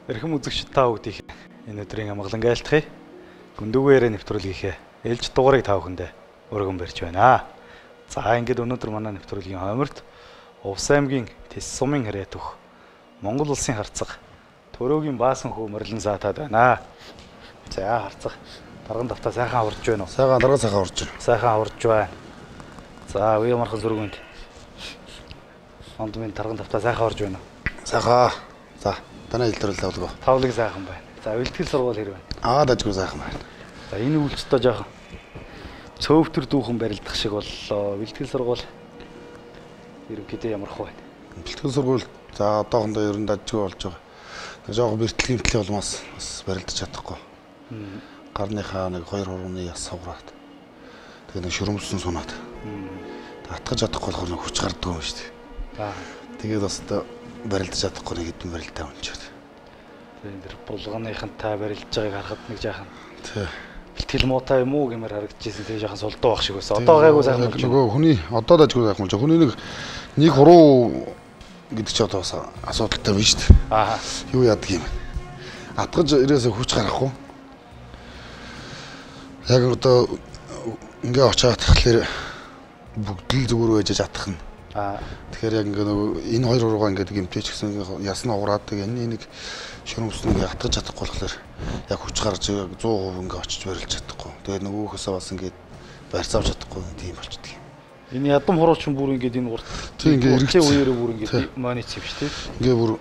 Эрхэм үзэгчид та бүгдийг энэ өдрийн амгалан айлтгая. Гүндүүгээрээ нэвтрүүлгийнхээ ээлж дугаарыг та бүхэндээ өргөн барьж байна. За ингээд өнөөдөр манай нэвтрүүлгийн хойморт Увс аймгийн Тэс сумын харьяа төх Монгол улсын харцаг Төрөөгийн баасан хүү Мөрлөн саатаад байна. За харцаг дарган давтаа сайхан аварж байна уу? Сайхан дарга сайхан аварж байна. Сайхан аварж байна. За үе мархан зүргүнд. Онд минь дарган давтаа сайхан аварж байна уу? Сайхан. За танай илтрүүлээ болов. Тавлыг сайхан байна. За бэлтгэл сургууль хэрэг байна. Дажгүй сайхан байна. За энэ үйлчлэлтөө жоохон цөөвтөр дүүхэн барилдах шиг боллоо. Бэлтгэл сургууль ерөнхийдөө ямар хөө байна? Бэлтгэл сургууль за одоохондоо ер нь дажгүй болж байгаа. Жоохон бэлтгэлийн хэмтлийн улмаас бас барилдаж чадахгүй. Гарныхаа нэг 2 хурууны яс савраад. Тэгээ нэг шөрөмсөн сунаад. Атгаж чадахгүй болохоор нэг хүч гарддаг юм шүү дээ. Тэгээд бас барилдаж чадахгүй нэг хэдэн барилдаа унчаад. Тэгээд энэ булганыхантай барилдаж байгааг харахад нэг жаахан. Тий. Бэлтгэл муутай юм уу гэмээр харагдчихсэн. Тэгээ жаахан сулдуу байх шиг байсан. Одоо гайгүй сайхан болж нөгөө хүний одоо дажгүй сайхан болж байгаа. Хүний нэг хуруу гэдэг чи одоо бас асуудалтай байна шүү дээ. Юу яадаг юм бэ? Атгаж ирээсээ хүч гарахгүй. Яг одоо ингээ очиад тахлаар бүгд л зүгээр байж чадах нь. Тэгэхээр яг ингээ нөгөө энэ хоёр уруугаа ингээ гэмтээч гэсэн ясна уураад энэ нэг шөрөмсөн ингээ атгаж чадахгүй болохоор яг хүч гарч 100% ингээ очиж барилж чадахгүй. Тэгээд нөгөөхөөсөө бас ингээ барьцаавч чадахгүй тийм болчихдөг юм. Энэ ядам хурууч бүр ингээ энэ урт. Тийм ингээ эргэцээ үеэрээ бүр ингээ монит юм шүү дээ. Ингээ бүр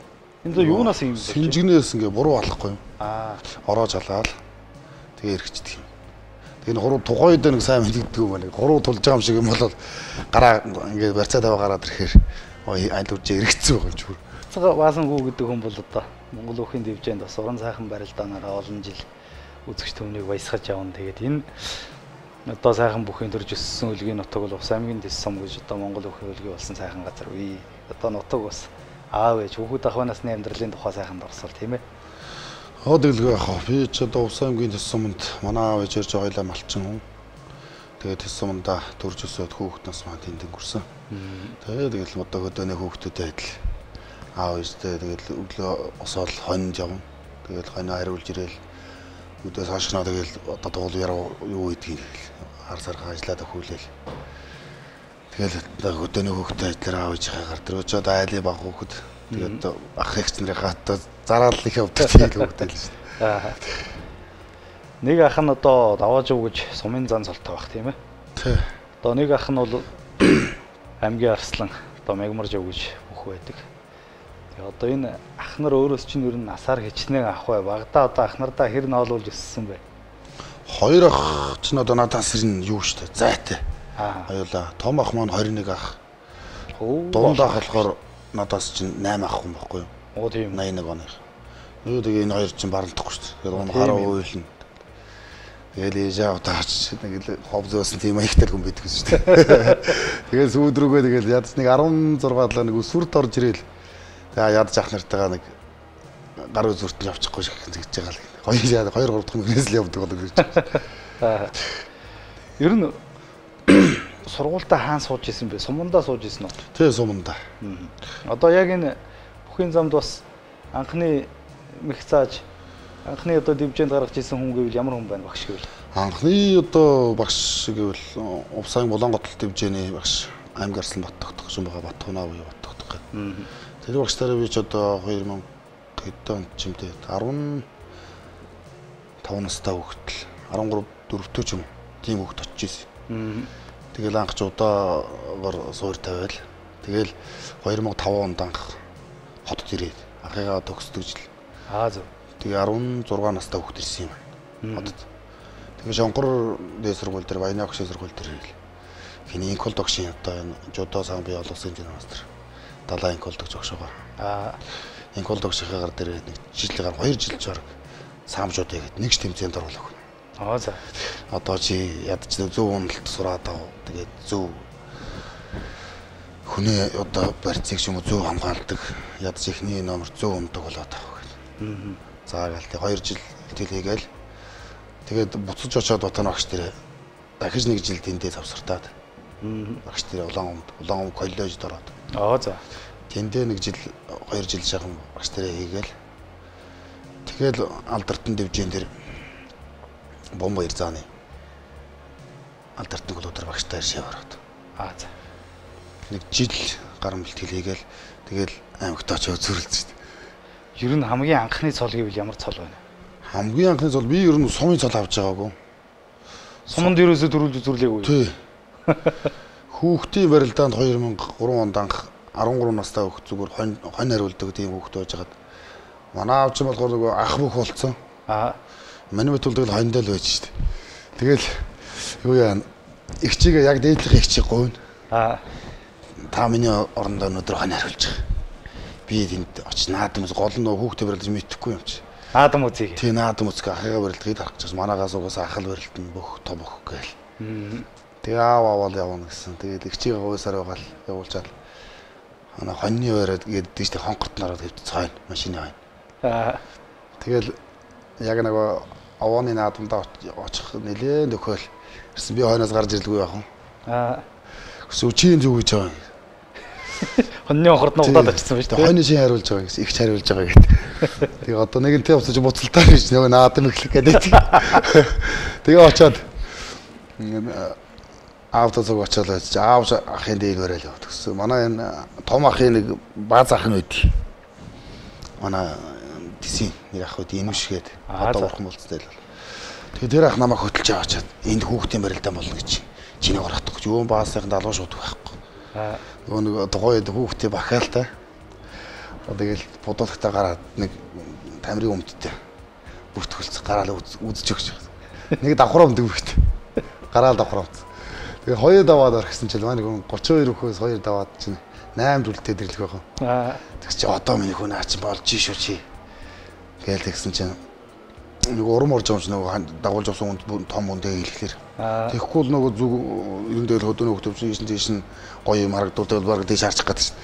энэ юунаас юм бэ? Синжигнээс ингээ буруу алахгүй юм. Ороо жалаад тэгээ эргэждэг юм. Энэ хуруу тухайд нэг сайн мэддэг юм байна. Хуруу тулж байгаа юм шиг юм бол гараа ингээд барьцаад аваа гараад ирэхээр аль үржээ эргэцсэн байгаа юм чүр. Цага баасан гүү гэдэг хүн бол одоо Монгол өхийн дэвжээнд бас уран сайхан барилдаанаараа олон жил үзэгч төмнийг баясгаж явна. Тэгээд энэ одоо сайхан бүхийн төрж өссөн үлгийн нутаг бол Увс аймгийн Тэс сум гэж одоо Монгол өхийн үлгий болсон сайхан газар үе. Одоо нутаг бас аав ээж хүүхэд ах насны амьдралын тухай сайхан дурсвал тийм ээ. Тэгэлгүй яах вэ? Би ч одоо Увс аймгийн Тэс суманд манай аав ээж ирж ойлаа малчин хүн. Тэгээд Тэс суманда төрж өсөөд хүүхэд нас маань тэнд өнгөрсөн. Тэгээд одоо хөдөөний хүүхдүүдтэй адил аав ээжтэй тэгээд өглөө осоол хонд явна. Тэгээд хоноо хариулж ирээл өдөөс хашгнаа тэгээд одоо туул яруу юу гэдгийг хар сархаа ажиллаад өхүүлээл. Тэгээд хөдөөний хүүхдтэй адилаар аав ээжийнхээ гар дээр очиод айлын баг хүүхэд тэгээд ах эгч нарынхаа одоо зараал их явдаг тийм хүүхдтэй л шүү дээ. Нэг ах нь одоо давааж өгч сумын зан цолтой байх тийм ээ. Тий. Одоо нэг ах нь бол аймгийн арслан одоо мягмарж өгч бүх байдаг. Тэгээ одоо энэ ах нар өөрөөс чинь ер нь насаар хичнээн ах бай. Багада одоо ах нардаа хэр ноолуулж өссөн бэ? Хоёр ах чинь одоо надаас ирнэ юу штэ зайтай. Хоёулаа том ах маань 21 ах. Дунд ах болохоор надаас чинь 8 ах хүн байхгүй юу? Тийм 81 оных. Юу тэгээ энэ хоёр чинь баралтахгүй шүү дээ. Тэгээд хараа уйлна. Тэгэл ээжээ удаач нэг л хов зөөсөн тийм аягтай хүн байдаг шүү дээ. Тэгээд сүйд рүүгээ тэгэл ядс нэг 16 далаа нэг өсвөрт орж ирээл. Тэгээ ядж ах нартайгаа нэг гар үзүрт нь явчихгүй шиг тэгж байгаа л. Хоёр 3 дахь мөрөөс л явдаг болов гэж. Ер нь сургуультаа хаан сууж исэн бэ? Сумандаа сууж исэн үү? Тий, сумандаа. Одоо яг энэ бүхийн замд бас анхны мэх зааж анхны одоо дэвжээнд гаргаж исэн хүн гэвэл ямар хүн байна багш гэвэл? Анхны одоо багш гэвэл Увс аймгийн Улаанготол дэвжээний багш аймгийн Арслан Бат тогтох юм байгаа Батхунаа буюу Бат тогтох гэдэг. Тэр багштай би ч одоо 2000 хэд онд ч юм дээ 15 настай хүүхдэл 13 4-т ч юм тийм хүүхд очиж ирсэн. Тэгэл анх ч удаагоор суур тавиал. Тэгэл 2005 онд анх хотод ирээд анхыгаа төгсдөг жил. Зөв. Тэгээ 16 настай хүүхд ирсэн юм. Хотод. Тэгээ Шонгор дээд сургууль дээр Баяны багшийн сургууль дээр ирэл. Хиний инкол догшин одоо энэ жудо сан бий олгосон мастер. Далайн инкол догч огшоогоо. Инкол догшийнхаа гар дээр нэг жилээр 2 жил жорог саамжууд ягээд нэгч тэмцээнд оруулах. За. Одоо чи ядч зөв уналт сураад ав. Тэгээд зөв хүний одоо барьцыг ч юм уу зөв хамгаалдаг. Ядч ихний номер зөв ундаг болоод ав гэх. За гээл тэг 2 жил тэл хийгээл. Тэгээд буцаж очиод Батхан багш дээр дахиж нэг жил тэндээ завсартаад. Багш дээр улаан коллежид ороод. За. Тэндээ нэг жил 2 жил шахам багш дээр хийгээл. тэгэл Алдартан дивжин дээр бомбаяр зааны Алдартан клубтар багштай иршээ ороод. За. Нэг жил гар бэлтгэл хийгээл тэгэл аймагт очиж зүрэлж шүү дээ. Ер нь хамгийн анхны цол гэвэл ямар цол байна? Хамгийн анхны цол би ер нь сумын цол авч байгаагүй. Суманд ерөөсөө төрүүлж зүрлээгүй. Тий. Хүүхдийн барилдаанд 2003 онд анх 13 настай хүүхд зүгээр хонь хариулдаг тийм хүүхд байж хагаад манай аав чинь болохоор нөгөө ах бүх болцсон. Манай мэт бол тэгэл хоньдоо л байж шүү дээ. Тэгэл юу яа их чигээ яг дээдлэх их чиг говно. Та миний орондоо өнөдөр хонь хариулж байгаа. Би тэнд очиж наадамс гол нь хүүхдээ барилдаж мэдхгүй юм чи. Наадам үзье. Тий наадам үзгээ ахыгаа барилдахыг харах гэж манаагаас угаас ахал барилдана бүх том өх гээл. Тэгээ аавал явна гэсэн. Тэгээд их чигээ говьсаар байгаал явуулчаал. Ана хоньны байраад гэдэг чинь хонгорт нараад хэвд цайна машины хойно. Тэгэл яг нөгөө овооны наадамдаа очих нэлээд нөхөөл. Ирсэн би хойноос гарч ирлгүй яах вэ? Сүчийн зүг гэж байгаа. Хоньны хонгорт нугдаад очсон байж таа. Хоньны шин хариулж байгаа гэсэн. Их хариулж байгаа гэдэг. Тэгээ одоо нэгэнтээ уцаж буцалтаа гэж нөгөө наадам ихлэх гэдэг. Тэгээ очиод автозог очиод аав ахын дээг өрөөл яваад гэсэн. Манай энэ том ахын нэг бааз ах нь үүдий. Манай тисийн нэг ах үүдий инвшгээд одоо урхан болцтой л. Тэгээ тэр ах намайг хөтөлж аваачаад энд хүүхдийн барилдаан болно гэж. Чиний гаргах гэж юу баасынхан далуу шууд байхгүй. Нөгөө нэг тухайн хүүхдээ бахаалтай. Тэгэл бодолтой гараад нэг тамирын өмдтэй бүртгүүлц гараал үзэж өгч. Нэг давхраа өмдөг бүрт. Гараал давхраа. Тэгээ хоёр даваад орхисон чинь манай хүн 32 хөөс хоёр даваад чинь 8 дүлтэй дэрлэх байгаа. Тэгс чи одоо миний хүн аач болж шүү чи. Гээл тэгсэн чинь нэг урам орж байгаа юм чи нөгөө дагуулж авсан том үндэ хэлэхлээр. Тэгэхгүй л нөгөө зүг юм дээр хөдөөний хөвтөвч тийш нь гоё юм харагдуулдаг баг тийш харчих гэдэг чинь.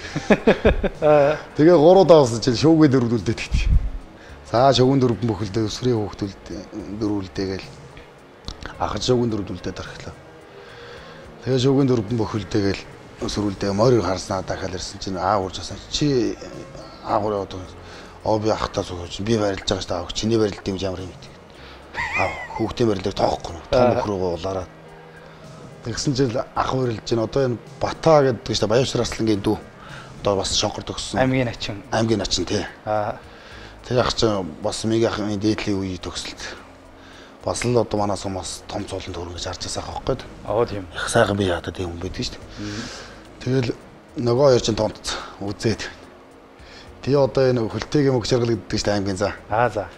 Тэгээ 3 давсан чинь шүүгээ дөрвөлдээд гэдэг. За шүүгэн дөрвөн бөхөлдөө өсрийн хөвтөлд дөрвөлдөөгээл ахад шүүгэн дөрвөлдөөд орхилоо. Тэгээ шүүгэн дөрвөн бөхөлдөөгээл өсрүүлдээ морийг харснаа дахиад ирсэн чинь урж асан чи аагур яваад би ахтаа сууж би барилж байгаа шүү дээ. Чиний барилд юм ямар юм бэ? Хүүхдийн барилдыг тоохгүй. Том өхрөөгөө улаараад. Тэгсэн чинь ах барилж чинь одоо энэ Бата гэдэг шүү дээ. Баявшир Аслангийн дүү. Одоо бас шонхор төгссөн. Аймгийн начин. Аймгийн начин тий. Тэр ах чинь бас миг ахын дээдлийн үе төгсөлт. Бас л одоо манай сумаас том цолон төрөн гэж харж байгаа байхгүй. Тийм. Их сайхан би ядаад юм байдаг шүү дээ. Тэгэл нөгөө хоёр чинь томц үзээд. Тэгээ одоо энэ хөлтэйг мөг шаргал гэдэг чинь аймгийн за. За.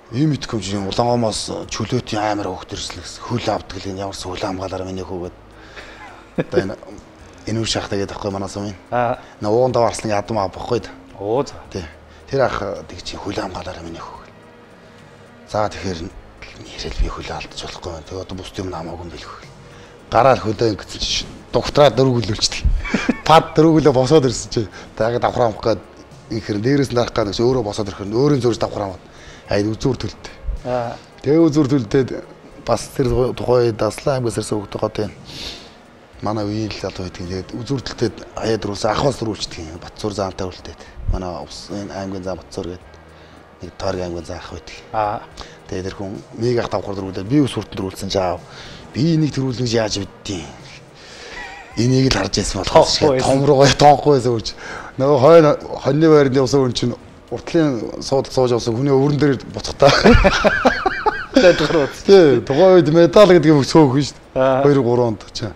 Ийм итгэм чинь улаангомоос чөлөөтийн амар хөөхт ирсэн гэсэн. Хөл авдаг л энэ ямар ч хөл хамгаалаараа миний хөөгээд. Одоо энэ үр шахтаа гэдэг байхгүй манай сумын. Нууган даваарсан ядам аа бохгүй. За. Тий. Тэр ах тэг чи хөл хамгаалаараа миний хөөгээд. За тэгэхээр нэрэл би хөл алдаж болохгүй байна. Тэгээ одоо бус юм намаагүй юм билгүй. Гараал хөлөө ингэсэн чи доктораа дөрвөлүүлчихдэг. Пад дөрвөлөө босоод ирсэн чи. Тэгээд давхраа амах гээд ихэр дээрээс нарах гэдэг чи өөрөө босоод ирэх нь өөрийн зурж давхраа аваад. Үзүүр төлтэй. Тэгээ үзүүр төлтөд бас тэр тухай Даслан аймгаас ирсэн хүүхдээ гот юм. Манай үеийн л залуу байдаг. Тэгээд үзүүр төлтөд аяад руусан ахвал дөрүүлчихдэг. Батцуур заантай үлдээд. Манай энэ аймгийн зам Батцуур гэдэг нэг Торгийн аймгийн зам ах байдаг. Тэгээд тэр хүн мега давхар дөрүүлээд би ус хүртэн дөрүүлсэн жаав. Би энийг төрүүлнэ гэж яаж мэдтiin. Энийг л харж байсан болохоо том руугаа тоохгүй байсан үуч. Нөгөө хоньны байрны усан хүн чинь уртлын суудалд сууж авсан хүний өрөн дээр буцахтаа. Тий, тухайн үед медаль гэдэг юм цөөхөн шүү дээ. 2-3 онд чинь.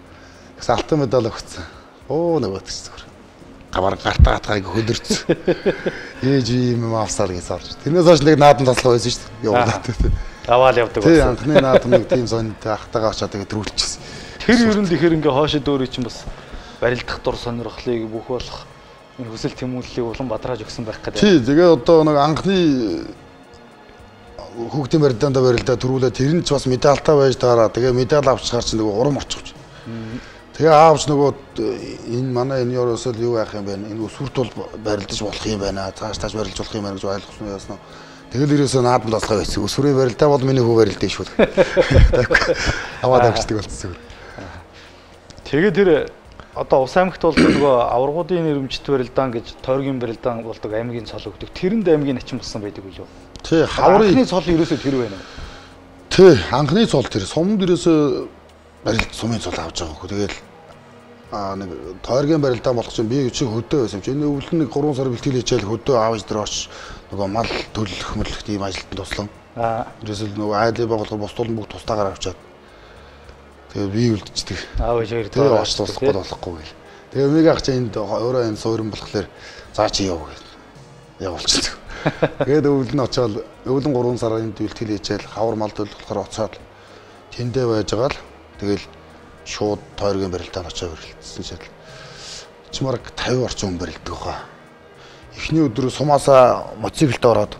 Тэгс алтан медаль өгсөн. Нөгөө тэгс зүгээр. Гавар гартаа хатгайг хөлөрч. Ээж юм авсаар гэж сарж. Тэрнээс хойш нэг наадам таслах байсан шүү дээ. Явуулаад. Аваал явдаг байсан. Тий, анхны наадам нэг тийм сонтой ахтагаа очоод тэгээд төрүүлчихсэн. Тэр ер нь тэгэхээр ингээ хоошид өөрөө чинь бас барилдах дур сонирхлыг бүх болох энэ хүсэл тэмүүллийг улам бадрааж өгсөн байх гэдэг. Тий, тэгээ одоо нэг анхны хүүхдийн барилдаанд барилдаа төрүүлээ тэр нь ч бас медальтай байж таараа. Тэгээ медаль авчихар чинь нөгөө урам орчихж. Тэгээ аавч нөгөө энэ манай энэ ерөөсөө юу яах юм бэ? Энэ өсвөрт бол барилдаж болох юм байна. Цааш барилж болох юм байна гэж ойлгосон яасан. Тэгэл ерөөсөө наадам таслах байсан. Өсвөрийн барилдаа бол миний хүү барилдаа шүү. Аваад авчдаг болчихсон. Тэгээ тэр одоо Ус аймагт бол нөгөө аваргуудын нэрмжит барилдаан гэж Тойргийн барилдаан болдог аймгийн цол өгдөг. Тэрэнд аймгийн начин болсон байдаг үү? Тий, хаврын анхны цол ерөөсөө тэр байна уу? Тий, анхны цол тэр. Сумд ерөөсөө барилт сумын цол авч байгаа хөө. Тэгэл нэг тойргийн барилдаа болох чинь би чи хөдөө байсан юм чи. Энэ өвлөн нэг 3 сар бэлтгэл хийчихэл хөдөө аавж дээр очиж нөгөө мал төлөх мөрлөх тийм ажилтанд туслан. Ерөөсөө нөгөө айлын байгууллага бусдуулан бүгд тустаагаар авчаад. Тэгээ би үлдчихдэг. Аав ээж хоёр тэгээ очиж туслахгүй болохгүй гэл. Тэгээ өмнөг ах чи энд өөрөө энэ суурин болохоор заа чи яв гэл. Явуулчихдаг. Тэгээд өвлөн очоод өвлөн 3 сар энд бэлтгэл хийчихэл хавар мал төлөх болохоор оцоод тэндээ байж байгаа л тэгэл шууд тойргийн барилдаанд очиж барилдсан шал. Чимарк 50 орчим хүн барилддаг хаа. Эхний өдрөө сумаасаа мотоциклд ороод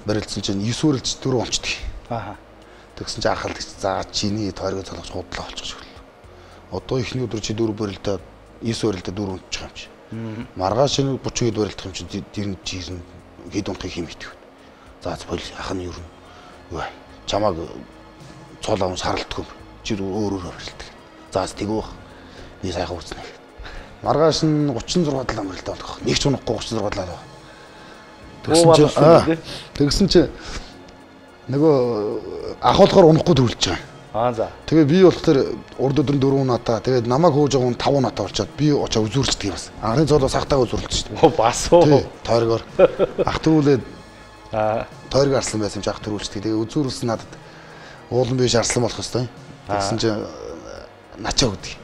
барилдсан чинь 9 үрэлж 4 онцдог. Тэгсэн чинь анхаалдаг. За чиний тойргийн цалгаж худлаа болчих шиг л. Одоо эхний өдөр чи 4 барилдаа 9 барилдаа 4 унтчих юм чи. Маргааш шинэ 30 хэд барилдах юм чи тэр нь жирэн хэд унтахыг хэм итгэв. За бол ах нь юу вэ? Чамаг цол аван саралддаг юм. Чи өөр барилдаг. За тэгвэх. Би сайхан үзнэ. Маргааш нь 36 талаа барилдаа болох. Нэг ч унахгүй 36 талаа. Тэгсэн чи нөгөө ахуулахаар унахгүй төрүүлж байгаа. За. Тэгээ би болохоор урд өдөр 4 унатаа. Тэгээд намайг хөөж байгаа хүн 5 унатаа болчиход би очоо үзүүрчдэг юм бас. Анхны цолоо сахтаа үзүүрлж шүү дээ. Бас уу. Тойргоор ах төрүүлээд тойрог арслан байсан юм чи ах төрүүлчдэг. Тэгээ үзүүрлсэн надад уулан биш арслан болох хэвээр. Тэгсэн чи начаа өгдөг.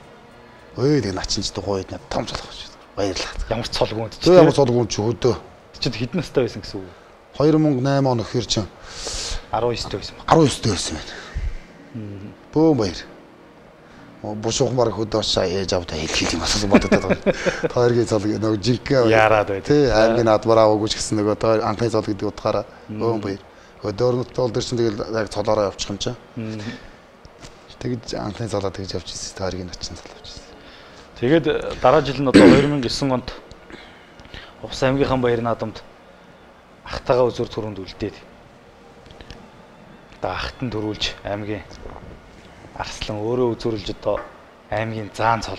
Өө тэгээ начин ч гойд над том цолох шүү. Баярлалаа. Ямар цолгуунд ч. Ямар цолгуунд ч хөдөө. Чид хэдэн настай байсан гэсэн үг? 2008 он өхөр чинь 19 дэх байсан. 19 дэх байсан байна. Бөө баяр. Бушуухан баг хөдөөш ээж авдаа хэлхий юм асуусан бодоод байгаа. Тойргийн цол нөгөө жинхэнэ яарад бай. Тий, аймгийн адмараа өгөөч гэсэн нөгөө тойр анхны цол гэдэг утгаараа бөө баяр. Өдөөрнөд тол дээр чинь тэгэл яг цолоороо явчих юм чаа. Тэгж анхны цолоо тэгж явж ирсэн. Тойргийн начин цол авч ирсэн. Тэгээд дараа жил нь одоо 2009 онд Увс аймгийнхан баяр наадамд ахтагаа үзүр түрүүнд үлдээд. Одоо ахт нь төрүүлж аймгийн арслан өөрөө үзүүрлж одоо аймгийн заан цол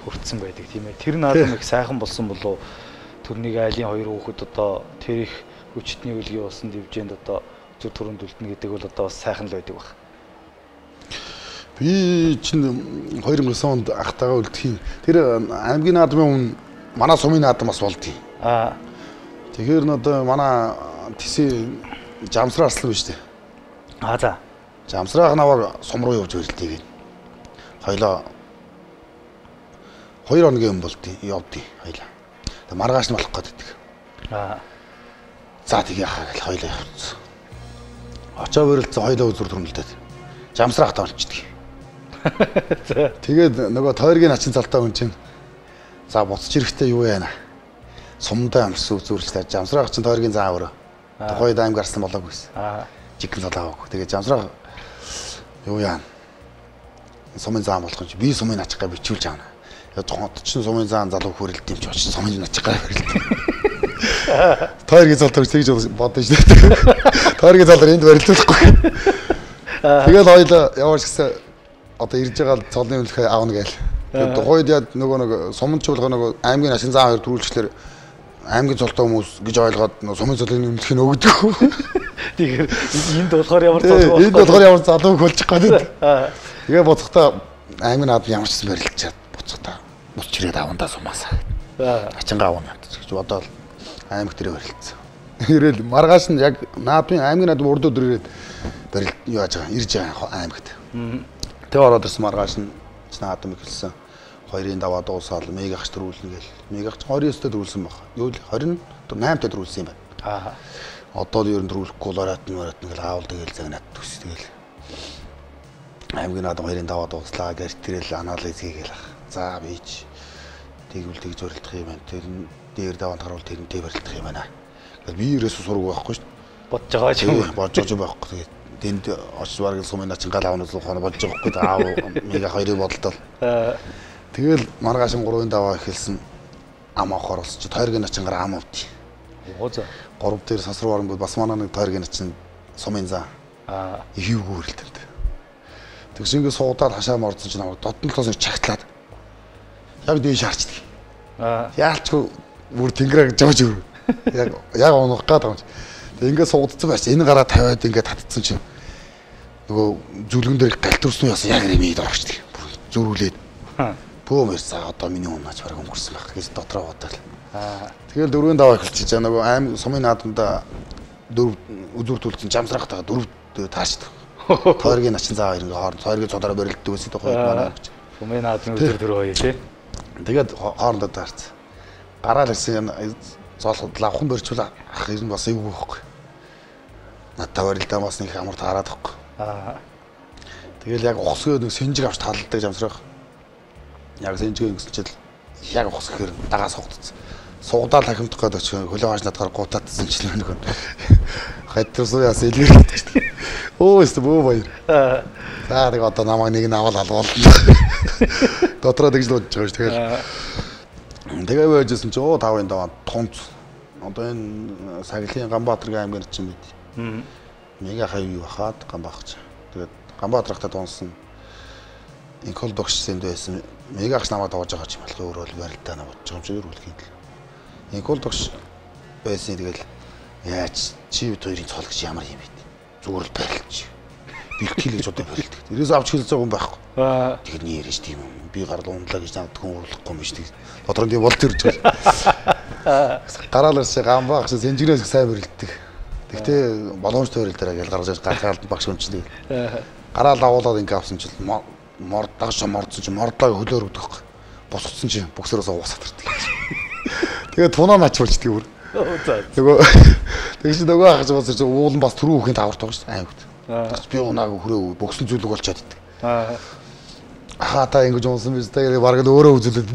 хүртсэн байдаг тийм ээ. Тэр наадам их сайхан болсон болов төрнийг айлын хоёр хүүхэд одоо тэр их хүчтний үлгийн болсон дивжээнд одоо үзүр түрүүнд үлдэнэ гэдэг бол одоо бас сайхан л байдаг баг. Би чинь 2009 онд ахтагаа үлдэхийн тэр аймгийн наадмын манай сумын наадам бас болдгий. Тэгэхээр одоо манай тэсээ жамсраа арслан биш үү? За. Жамсраах наваг сум руу явж барилдгийг. Хоёлоо 2 хоногийн болдгий, явдгий хоёлаа. Тэгээ маргааш нь болох гэдэг. За тэгээ яхаа гэл хоёлоо явцсан. Очоо барилдсан хоёлоо үзүр төрмөлдөд. Жамсраах таалчдаг. Тэгээд нөгөө тойргийн начин цалтаа хүн чинь за буцаж ирэхдээ юу яана? Сумдаа амарсан үзүүрлэлтэй жамсраах чинь тойргийн заа өөрөө. Тухайд аймаг гарсан болоогүйс. Жигэн цолоо авах. Тэгээ жамсраах юу яана? Сумын заа болох юм чи би сумын ачгаа бичүүлж аана. Яг чинь сумын заан залуу хүрэлт юм чи очиж сумын ачгаа барилт. Тойргийн цол төрж тэгж бодсон шүү дээ. Тойргийн цолоор энд барилдуулахгүй. Тэгэл хоёлаа яваач гэсэн одоо ирж байгаа цолны үлхэ аавна гээл. Тэгээд тухайд яд нөгөө суманд чуулга нөгөө аймгийн ашин заа хоёр төрүүлчихлээр аймгийн цолтой хүмүүс гэж ойлгоод сумын цолын үлхийг өгдөг. Тэгэхээр энд болохоор ямар залуу энд болохоор ямар залууг болчих гээд. Тэгээ боцохтой аймгийн наад ямар ч юм барилдчаад боцохтой бус чирээд авандаа сумаасаа. Ачингаа авна гэж бодоод аймаг дээр барилдсан. Ирэл маргааш нь яг наадмын аймгийн наад урд өдөр ирээд барилд юу яаж байгаа ирж байгаа аймагт. Тэгээ ороод ирсэн маргааш нь наадам ихэлсэн. 2-ын даваа дуусаал мегагч төрүүлнэ гээл. Мегагч 29-т төрүүлсэн баг. Юу л 28-т төрүүлсэн юм байна. Одоо л ер нь төрүүлэхгүй лорат гэл аавал тэгэл загнаад төс тэгэл. Аймгийн наадам 2-ын даваа дууслаа гэр тэрэл анализ хийгээл. За бийч тэгвэл тэгж барилдах юм байна. Тэр дээр даваанд харуул тэрнтэй барилдах юм байна. Тэгэл би ерөөсө сураг байхгүй шүү дээ. Бодож байгаа ч юм. Бодож байхгүй. Тэгээд тэнд очиж бараг сумын начин гал авнаас ухаана болж байгаа байхгүй аав мега 2-ыг бодолтол. Тэгэл маргааш 3-ын даваа эхэлсэн ам авахаар болсон чи тойргийн начингаар ам авдий. Оо за. 3 дээр сасруу оронгууд бас манай нэг тойргийн начин сумын заа. Ихүүг үрэлтэнд. Тэгс ингэ суудаад хашаа мордсон чи намайг дотн толоос чагтлаад. Яг дээш харчдаг. Яалчгүй бүр тэнгэрэг жавж өр. Яг унах гээд байгаа юм чи. Тэгээ ингээд суудсан байж энэ гараа тавиад ингээд татцсан чинь нөгөө зүлгэн дээр галт төрсөн яасан яг нэмээд орчихдаг. Зүрүүлээд. Бөөмөр цаа одоо миний унаач бараг өнгөрсөн байх гэж дотроо бодоод. Тэгэл 4-5 эхэлчихэж байгаа нөгөө аим сумын наадамда 4 үзүр төлсөн жамсрах тага 4 таашдаг. Тойргийн начин заа хоёр ингээ хооронд тойргийн цодороо барилддаг байсан тохой манай гэж. Сумын наадмын үзүр 4 хоёр тий. Тэгээд хоорондоо таарч. Гараал гэсэн зоолход лавхан барьчул ах ер нь бас эвгүй байхгүй. Надад барилдаа бас нэг амар таарад байхгүй. Тэгэл яг ухсгөө нэг сэнжиг авч талдаг жамсрах. Яг сэнжиг гэсэн чил яг ухс гэхээр дагаа согдсон. Сугадаа тахимдах гэдэг чинь хөлөө хааж надгаар гутаадсан ч нэг юм. Хайтрсуу яас илэрдэг шүү дээ. Оо өстө бөө баяр. За тэг одоо намайг нэг нь аваад алгуулна. Дотроо тэгж л бодож байгаа шүү. Тэгээ байжсэн чи оо 5-ын даваа тунц. Одоо энэ Саглын Ганбаатаргийн аймгаар чинь мэд. Мега хавь бахаад Ганбаатар. Тэгээд Ганбаатархтаа тунсан. Инкол догшсэнд байсан. Мегагч намайг тоож байгаа ч юм бол өөрөө л барилдаа наваад байгаа юм чи өрүүлэх юм. Инкол догш байсан тэгэл яаж чи бид хоёрын цол гэж ямар юм бэ? Зүгээр л барилж. Бэлтгэлж одоо барилдаг. Тэрээс авч хэлж байгаа юм байхгүй. Тэгэхээр нь яриаш тийм юм. Би гарлаа ундлаа гэж надад хүн урлахгүй юм биш тийм. Дотроо тийм болд ирж байгаа. Гараалаас Ганбаатар шиг сэнжигнээс сайн барилддаг. Тэгтээ боломж тойрол дээр гаргаж гаргаалд багш өнчтэй. Гараал агуулаад ингээ авсан чил мордагш мордсон чи мордлоо хөлөөр өгдөг. Босгоцсон чи бөксөрөөс уусаад ирдэг. Тэгээд тунаа начруулчдаг бүр. Нөгөө тэгж нөгөө ахаж уусар чи уулан бас түрүү хөхийн таварт байгаа шүү аймагт. Би унааг хүрээ бөксөн зүйлэг болчиход идэг. Ахаа та ингэж унсан биз тэгээд бараг л өөрөө үзүүлээд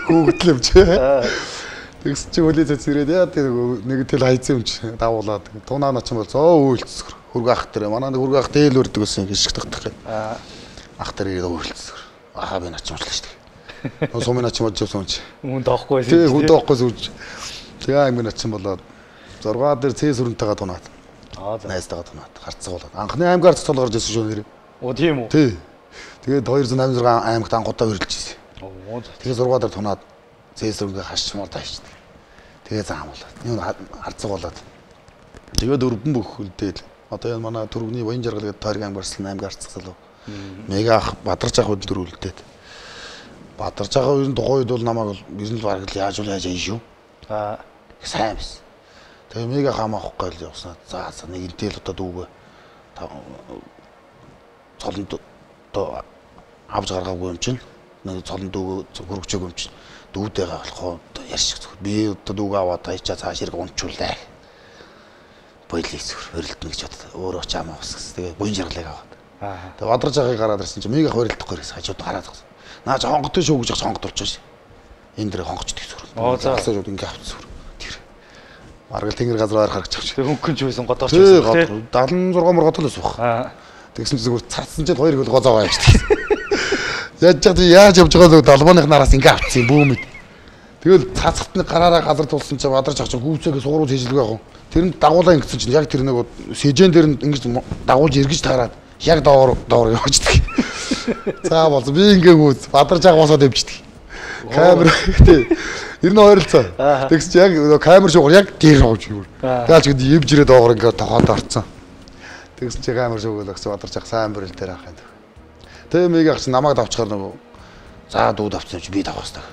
хөөгдлөв чи. Тэгс чи хөлөө цэцгэрээд яа тэр нэг тэл хайцсан юм чи давуулаад тунаа нач юм бол зөө үйлцсгэр хөргө ах тэр манай хөргө ах дээл өрдөг гэсэн гიშг тагтах гэдэг. Ах тэр ирээд үйлцсгэр. Ахаа би нач юмчлаа шүү. Сумын нач мод живсэн чи. Хүн доохгүй. Тэг хүн доохгүй сүрж. Тэгээ аймаг начин болоод 6 дээр цэс өрөнтэйгээ тунаад. Найзтайгаа тунаад гарцсуулаад. Анхны аймгаар цоцол гарч ирсэн шүү нэр. Оо тийм үү. Тий. Тэгээд 286 аймагт анхудаа хөрлөж ирсэн. Тэгээ 6 дээр тунаад цэс өрөнгө хашчмаар таашдаг. Тэгээ заамуулаад. Юу харцсуулаад. Тэгээд өрбөн бөхөлдөөл. Одоо энэ манай түргний Баян жаргал гэдэг тойргийн аймгарсан аймгаар цацсан. Мега ах Бадарч ах өдөр үлдээд. Бадарч ах үеийн тухайд бол намайг ер нь бараг л яаж ийн шүү. Сайн биш. Тэгээ мега хамаахгүй л явснаа. За нэг интэл одоо дүүгээ цолонд одоо авч гаргаагүй юм чинь. Нэг цолонд дүүгээ хөргөчөөг юм чинь. Дүүдэйгээ болохоо одоо ярьчих зүгээр. Би одоо дүүгээ аваад таячаа цааш ирэх унчуулаа. Бойлыг зүгээр хөрөлдөн гэж боддог. Өөрөө ч амаа ус гэсэн. Тэгээ Баян жаргалыг аваад. Тэгээ Бадарч ахыг гараад ирсэн чинь мега хөрөлдөхгүй гэсэн хажууд гараад байгаа. Наач хонготой шүү гэж хонгод болчихсон. Энэ дээр хонгочдөг зүгээр. Заасаа ингээ авчихсан. Тэр. Бараг тэнгэр газар харах гэж. Тэг хөнгөн ч байсан годооч байсан. 76 морготол байсан баг. Тэгсэн чинь зүгээр цацсан чинь хоёр хөл гозоо байждаг. Яаж явж байгааг далбооных нараас ингээ авчихсан бүүмэд. Тэгэл цацхтны гараараа газар тулсан чинь Бадарч ах чинь гүйцээгээ суурууд хийжлэг яг. Тэр нь дагуулаа ингэсэн чинь яг тэр нэг сэжэн дээр нь ингэж дагуулж эргэж таарад яг доор явждаг. За болсон би ингээ гүйц Бадарч ах босоод явждаг. Камер тий. Ер нь ойролцоо. Тэгс чи яг камер шугар яг дээр авч юу. Тэгэл ч гээд евж ирээд доогор ингээ тохоод орцсон. Тэгс чи камер шугал өгсөн Бадарч ах сайн бүрэл дээр авах юм. Тэгээ мега ах чи намайг давчгаар нөгөө за дүүд авсан чи би давах хэрэгтэй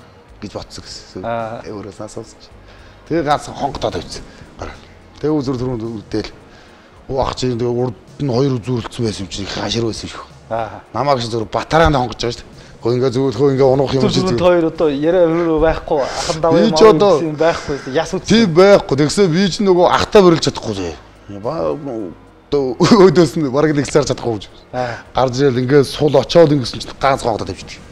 гэж бодсон гэсэн. Өөрөөс асуусан чи. Тэгээ ганц хонгодоод авчихсан. Тэгээ үзүр түрүүнд үдэл. Оо ах чи тэгээ урд нь хоёр үзүүлэлцсэн байсан юм чи хашир байсан шүү. Намайг чи зөв батараанд хонгож байгаа шүү. Хөө ингээ зөвлөхөө ингээ унах юм чи зөв хоёр одоо яриа хөрөө байхгүй ахан даваа юм байхгүй яс үт. Тийм байхгүй. Тэгсээ би ч нөгөө ахтаа бөрлж чадахгүй. Өөдөөс нь бараг нэг цаар чадахгүй гэж. Гарч ирэл ингээ сул очоод ингэсэн чинь ганц хонгодод тавьчихдаг.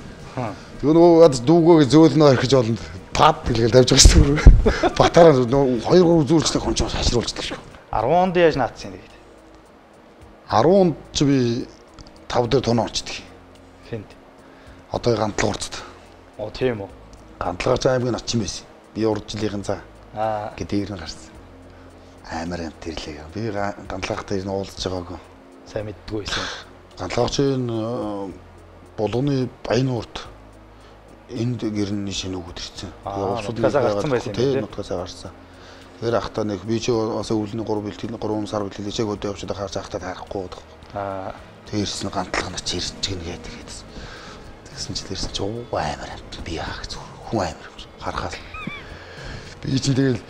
Тэгээ нөгөө дүүгөө зөөлнөө орхиж олонд пад гэлгээл тавьж байгаа шүү дээ. Батараа нөгөө 2-3 үзүүлжтэй хүн ч хашруулждаг шүү. 10 онд яаж наацсан юм бэ? 10 онд ч би 5 дээр тунаа орчдөг. Хинт. Одоо гантлаг урцд. Оо тийм үү. Гантлагч аймгийн начин байсан. Би урд жилийн за. Гэдгээр нь гарсан. Амар юм тэрлээ. Би гантлагтай нь уулзж байгаагүй. Сайн мэддэггүй байсан. Гантлагчийн булганы Баян урд энд гэрний шинэ өгöd ирсэн. Нутгасаа гарсан байсан. Тийм нутгасаа гарсан. Тэр ахта нэг би чи бас өвлөний 3 бэлтгэл 3 сар бэлтгэл чиг өдөө явчихад харж ахта харахгүй. Тэрс нь гантлах нь чирч гин гэдэг. Тэгсэн чи тэрс чи амар би яах зүр хүн амар харахаас би чи тэгэл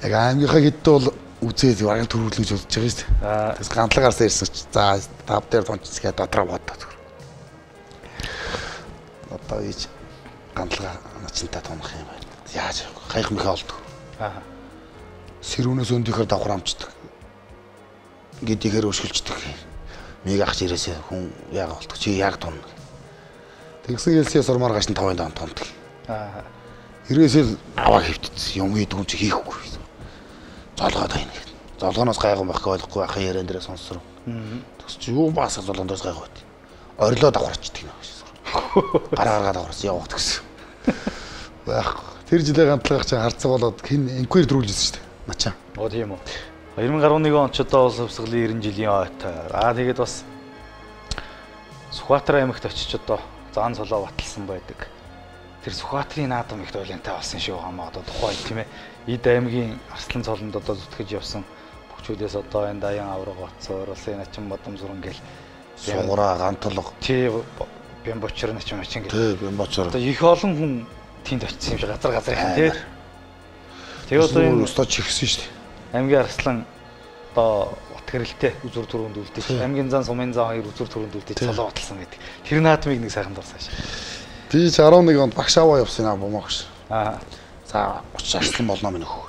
яг аймгийнхаа хэд бол үзээд бараг төрүүлнэ гэж бодож байгаа шүү дээ. Тэгс гантлагаарсаа ирсэн чи за тав дээр тонцсгээ дотроо бодоо зүр. Одоо ийж гантлага начинта томох юм байна. Яаж хайх мөхөө олдог. Сэрүүнээс өндөхөр давхар амчдаг. Гэдийгээр өшгөлждөг. Миг ахч ирээсээ хүн яг болдог. Чи яг тун. Тэгсэн хэлсээ сурмаар гаш нь 5 дон томдог. Ирээсээ аваа хөвтөц юм ийд хүн чи хийхгүй. Золгоод байна гэд. Золгооноос гайгүй байхгүй болохгүй ахын яриан дээрээ сонсроо. Тэгс чи юу баасаа золгооноос гайгүй. Орилоо давхарчдаг нэ. Гараа давхарсан явах гэсэн. Байхгүй. Тэр жилээ гантлах чинь харцаг болоод хин инквайр дөрүүлжсэн шүү дээ. Начаа. Тийм үү. 2011 он ч одоо улс хувьсгалын 90 жилийн ойтой. Тэгээд бас Сүхбаатар аймагт очиж одоо заан цолоо баталсан байдаг. Тэр Сүхбаатарын наадам их тойлонтой болсон шүү хамаа одоо тухайн тийм ээ. Эд аймгийн Арслан цолонд одоо зүтгэж явсан бүгчүүдээс одоо энэ Даян авраг Бацар, Улсын Начин Бадамзуран гэл Сугураа гантолго. Тийм Бямбочор Начин Мачин гэл. Тийм Бямбочор. Одоо их олон хүн тэнд очсон юм шиг газар хэн тийм. Тэгээ одоо энэ өстө чихсэн шүү дээ. Аймгийн Арслан одоо утгэрэлтэй үзүр төрөнд үлдээж аймгийн зан сумын зан хоёр үзүр төрөнд үлдээж цолоо баталсан гэдэг. Тэр наадмыг нэг сайхан дурсаа шээ. Би 11 онд багш аваа явсан аа бомогш. За 30 Арслан болно минь хөө.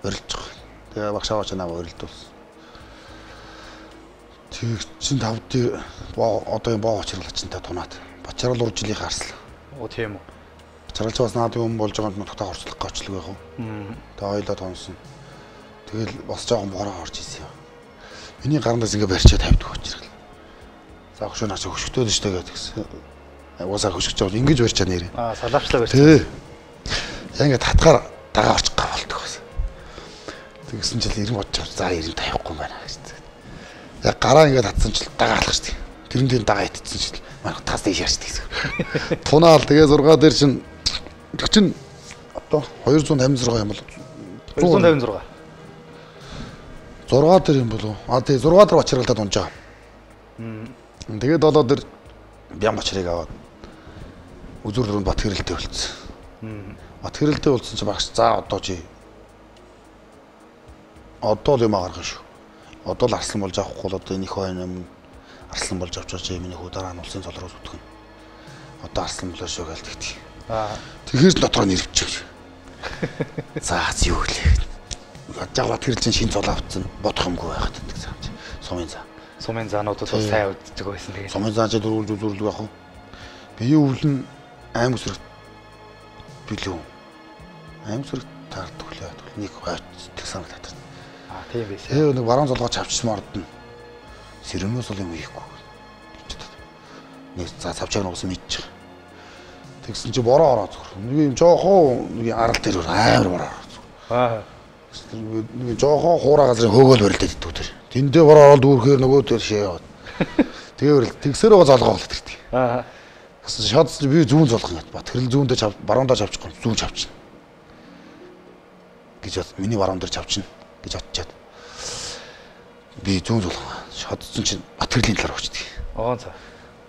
Орилж байгаа. Тэгээ багш аваа чанаа орилдуулсан. Тэг чин тавд одоо юм боо очрлачтай тунаад. Бочрол уржлынх Арслан. Тийм үү. Бочролч бас наад юм болж байгаа юм нутагтаа орчлох гочлог байх уу. Тэгээ хоёлоо тонсон. Тэгэл бас жоохон бороо орж исэн юм. Миний гарандаас ингээ барьчаа тавьдаг очрол. За хөшөө наач хөшгтөөд штэ гэдгсэн. Уусаа хөшгөж байгаа ингэж барьчаа нэрээ. Салаавчлаа барьчаа. Тий. Яг ингээ татгаар дагаа орчих гав болдог бас. Тэгсэн чил 90 бодож за 90 тавихгүй юм байна гэж. Яг гараа ингээ татсан чил дагаа алах штэ. Тэрэн дээр дагаа итцсэн чил манай тас дэш яашдаг гэсэн. Тунаал тэгээ 6 дээр чин одоо 256 юм бол 256. 6 дээр юм болов. Тий 6 дээр бочролтод унж байгаа. Тэгээд 7 дээр бям бочрыг аваад үзүр дөрөнд бат хэрэлтэй болцсон. Бат хэрэлтэй болцсон чи багш за одоо чи одоо л юм гаргах шүү. Одоо л Арслан болж авахгүй л одоо энэ их хойно юм Арслан болж авчаач миний хүү дараа нь улсын цол руу зүтгэн. Одоо Арслан болоо шүү гээл тэгтий. Тэгэхээр дотроо нэрвчих. За юу гэлээ. Жагаад тэр чин шин цол авцсан бодох юмгүй байхад гэдэг сам чи. Сумын заа. Сумын заануудад бас сайн үздэг байсан тэгээд. Сумын заа чи дөрвөлж үзүүлдэг яах вэ? Би өвлөн аим өсрөх билүү. Аим өсрөх таардаг лээ. Нэг хойт санагдаад. Тийм байсан. Тэгээ нэг баруун золгоо чавчсан ордно. Сэрэмнээс бол юм хийхгүй. Нэг за цавчааг нугсан мэдчих. Тэгсэн чи бороо ороо зүр. Нэг юм жоохоо нэг арал дээр амар бороо ороо. Нэг жоохоо хуурай газрын хөөгөл барилдаад иддэг тэр. Тэндээ бороо ороод дүүрхээр нөгөө тэр шээ яваад. Тэгээ барил тэгсээр байгаа золгоо болоод ирдэг. Гэсэн шод би зүүн золгох юм бат. Тэрл зүүндээ баруундаа чавчихгүй зүүн чавчна. Гэж бод миний баруун дээр чавчна гэж бодчиход. Би зүүн золгоо. Шодсон чинь Батэрлийн талаар очдөг. За.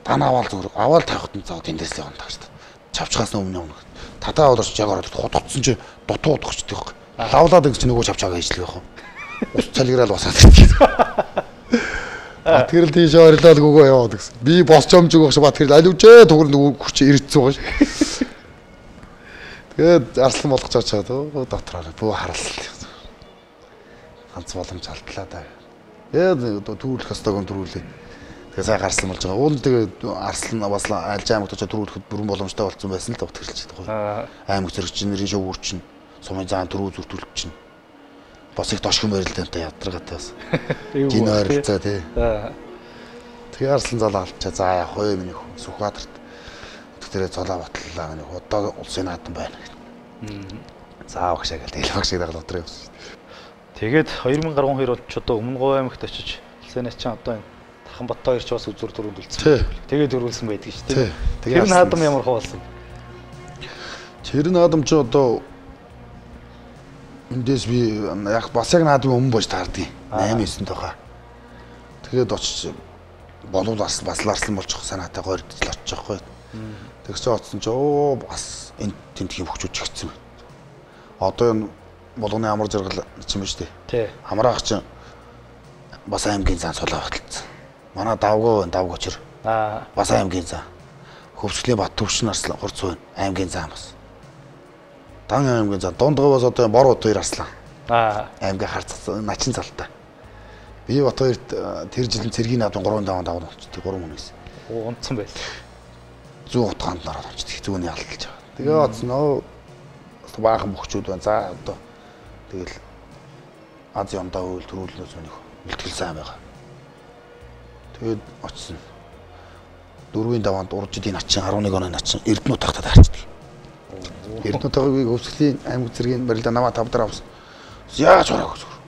Тана аваал зүгээр. Аваал тавихт нь заа тэндээс л явна тааш. Чавчхаас өмнө. Татаа болооч яг ороод хутгцсан чи дутуу удахчдаг. Лавлаад ингэ чи нөгөө чавчаага хийжлэх байх. Ус цалгираал басаад ирдэг. Батэрл тийш орилаад гөгөө яваад гэсэн. Би босч юмж өгөх ш Батэрл аливжээ түгэр нөгөө хүч иргэцсэн байгаа ш. Тэгээд Арслан болгож очоод дотроо бүү харалт. Ганц боломж алдлаа да. Тэгээд төрүүлэх хастайг төрүүлээ. Тэгээ сайн гарсан болж байгаа. Уул тэгээд Арслан бас альж аймагт очоод төрүүлэхэд бүрэн боломжтой болсон байсан л Батэрлж байгаа. Аймаг зэрэгч нэрийн шүүгүүр чинь сумын заан төрүү зүртүүлэх чинь. Бас их дошхон барилдаантай ядаргаатай бас. Гин ойролцоо тий. Тэгээ Арслан залаа алчаа за яах вэ миний хүн Сүхбаатарт. Тэгтэрээ цолоо батлаа миний одоо улсын наадам байна гэдэг. За багшаа гэл тэгэл багшаа дагаад дотроо явсан. Тэгээд 2012 он ч одоо Өмнө Говь аймагт очиж улсын начин одоо энэ Тархан Бат хоёр ч бас үзүр төрөнд үлдсэн. Тэгээд төрүүлсэн байдаг шүү дээ. Тэр наадам ямар хөө болсон? Тэр наадам ч одоо Эндээс би яг бас яг наадгүй өмнө бож таардیں۔ 8-9 тохоо. Тэгээд очиж болов бас ларслан болчих санаатай гойрдж л очиж байгаа байхгүй. Тэгс чи оцсон чи бас энэ тентхийн хөвчүүд чигцсэн. Одоо энэ болгоны амар жаргал чинь биш үү? Тий. Амраах чинь бас аймгийн зан сулаа баталсан. Манай давгочор. Бас аймгийн зан. Хөвсглийн бат төвшин арслан хурц байна. Аймгийн зан бас. Дан аймгийн зан дундгаас одоо бор удаа арслан. Аймгийн харцсан начин залтай. Би бат хоёрт тэр жилийн цэргийн наадын 3 даван болчихсон. 3 хүнээс. Унтсан байл. 100 утгаанд нараад болчихсон. Зүүнний алдалж байгаа. Тэгээ оцноо баахан бөхчүүд байна. За одоо тэгэл Ази ондоо үйл төрүүлнөөс өнөх бэлтгэл сайн байгаа. Тэгээд очсон. 4-ийн даваанд уржидын начин 11 оны начин Эрдэнэт тагтад харчдаг. Эрдэнэт тагийг өвсглийн аймаг зэргийн барилда намаа 5 дараа авсан. Яаж хараагүй зүгээр.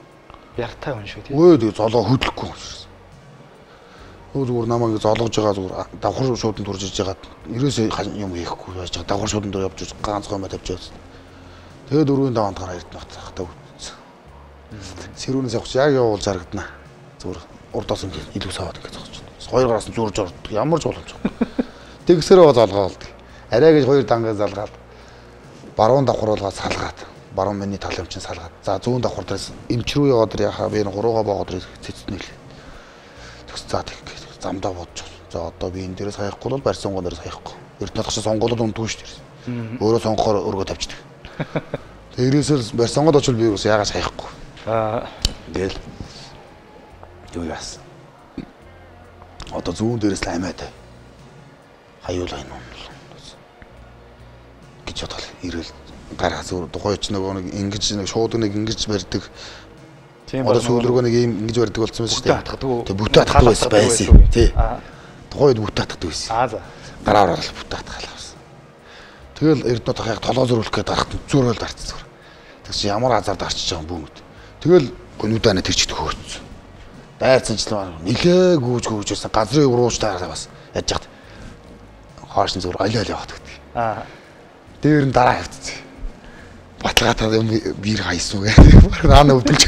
Яртай хүн шүү тийм. Өө тэгээ золоо хөдлөхгүй юм шиг. Өө зүгээр намайг золгож байгаа зүгээр давхар шууданд турж иж ягаад ерөөсөө юм хийхгүй байж байгаа. Давхар шууданд tur явж ганц гомоо тавьж байгаа. Тэгээд 4-ийн даваанд гараа Эрдэнэт тагтаа үтсэн. Сэрүүнээс явах яг явуул зарагдана. Зүгээр урдаас илүү саваад ингэ зогсож байна. Хоёр гараас нь зүрж ордог. Ямар ч боломжгүй. Тэгсэрээ золгоо болдог. Арай гэж хоёр дангаа залгаад баруун давхруулгаа салгаад баруун миний тал юмчин салгаад за зүүн давхар дээрээс эмч рүү яваад яхаа би энэ гуруугаа боогод цэцнэ л. Тэгс за тэг замдаа бодож. За одоо би энэ дээрээс хаяхгүй бол барьсан гоо дээрээс хаяхгүй. Эрдэнэт тагш сонголоод унтгүй шүү дээ. Өөрөө сонгохоор өргөө тавьчихдаг. Тэрээсэл барьсангод очвол би бас яагаас хаяхгүй. Тэгэл юу яасан. Одоо зүүн дээрээс л амиад хаюул байна уу гэж бодвол ирэл гараа зүр тухайч нөгөө нэг ингэж нэг шууд нэг ингэж барьдаг. Одоо сүүлрүүгөө нэг юм ингэж барьдаг болсон байсан шүү дээ. Тэг бүтэ атгах байсан. Тий. Тухайд бүтэ атгах байсан. За. Гараа орол бүтэ атгах байсан. Тэгэл Эрдэнэт тахыг толгоо зөрүүлэх гээд гарахт зүрөөл дарцсан зүр. Тэгс ямар азар дарчиж байгаа юм бүүмэд. Тэгэл нүдэнэ тэрчдэг хөөцсөн. Дайрцсан ч нилээ гүүжсэн газрын урууч таараа бас яаж яхад хоош нь зүгээр олиол яваад гэдэг. Дээр нь дараа хавцсан. Баталгаатай юм биер хайсан гэдэг. Наана өвдөлж.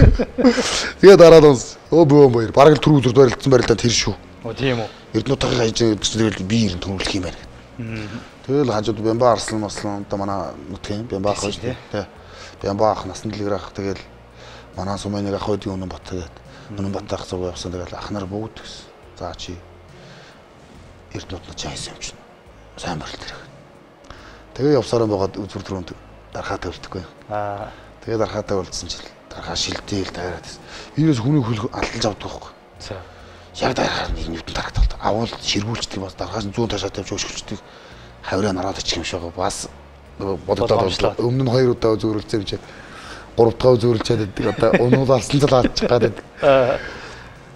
Тэгээ дараад онс бөөм баяр. Бараг л түр үзүр барилдсан барилдаа тэр шүү. Тийм үү. Эрдэнэт тахыг хайж тэгэл биер нь төрүүлэх юм байна. Тэгэл хажууд Бямба арслан одоо манай нутгийн Бямба ах шүү дээ. Бямба ах насан дэлгэр ах тэгэл манай сумыныг ах байдгийн үнэн бат тэгээд үнэн бат ах зүг явсан тэгэл ах нар бүгд гэсэн. За чи Эрдэнэт нот хайсан юм чинь. Сайн барилт хэрэг. Тэгээ явсараа байгаад үзүр төрөнд дарахаа тавьдаггүй. Тэгээ дарахаатай уулзсан чил дарахаа шилдээл таараад. Вирус хүний хөл алдалж авдаг байхгүй. За. Яг дарахаар нэг нүдэн дарагдав. Авуул ширгүүлчдэг бас дарахаас 100 ташаа тавьж өшгөлчдөг. Хавраа нараад очих юм шиг бас бодогдоод өмнө нь 2 удаа зөөрөлцөө юм чи 3 дахь зөөрөлчээд байдаг. Одоо унуулсан цал алдчих гадаг.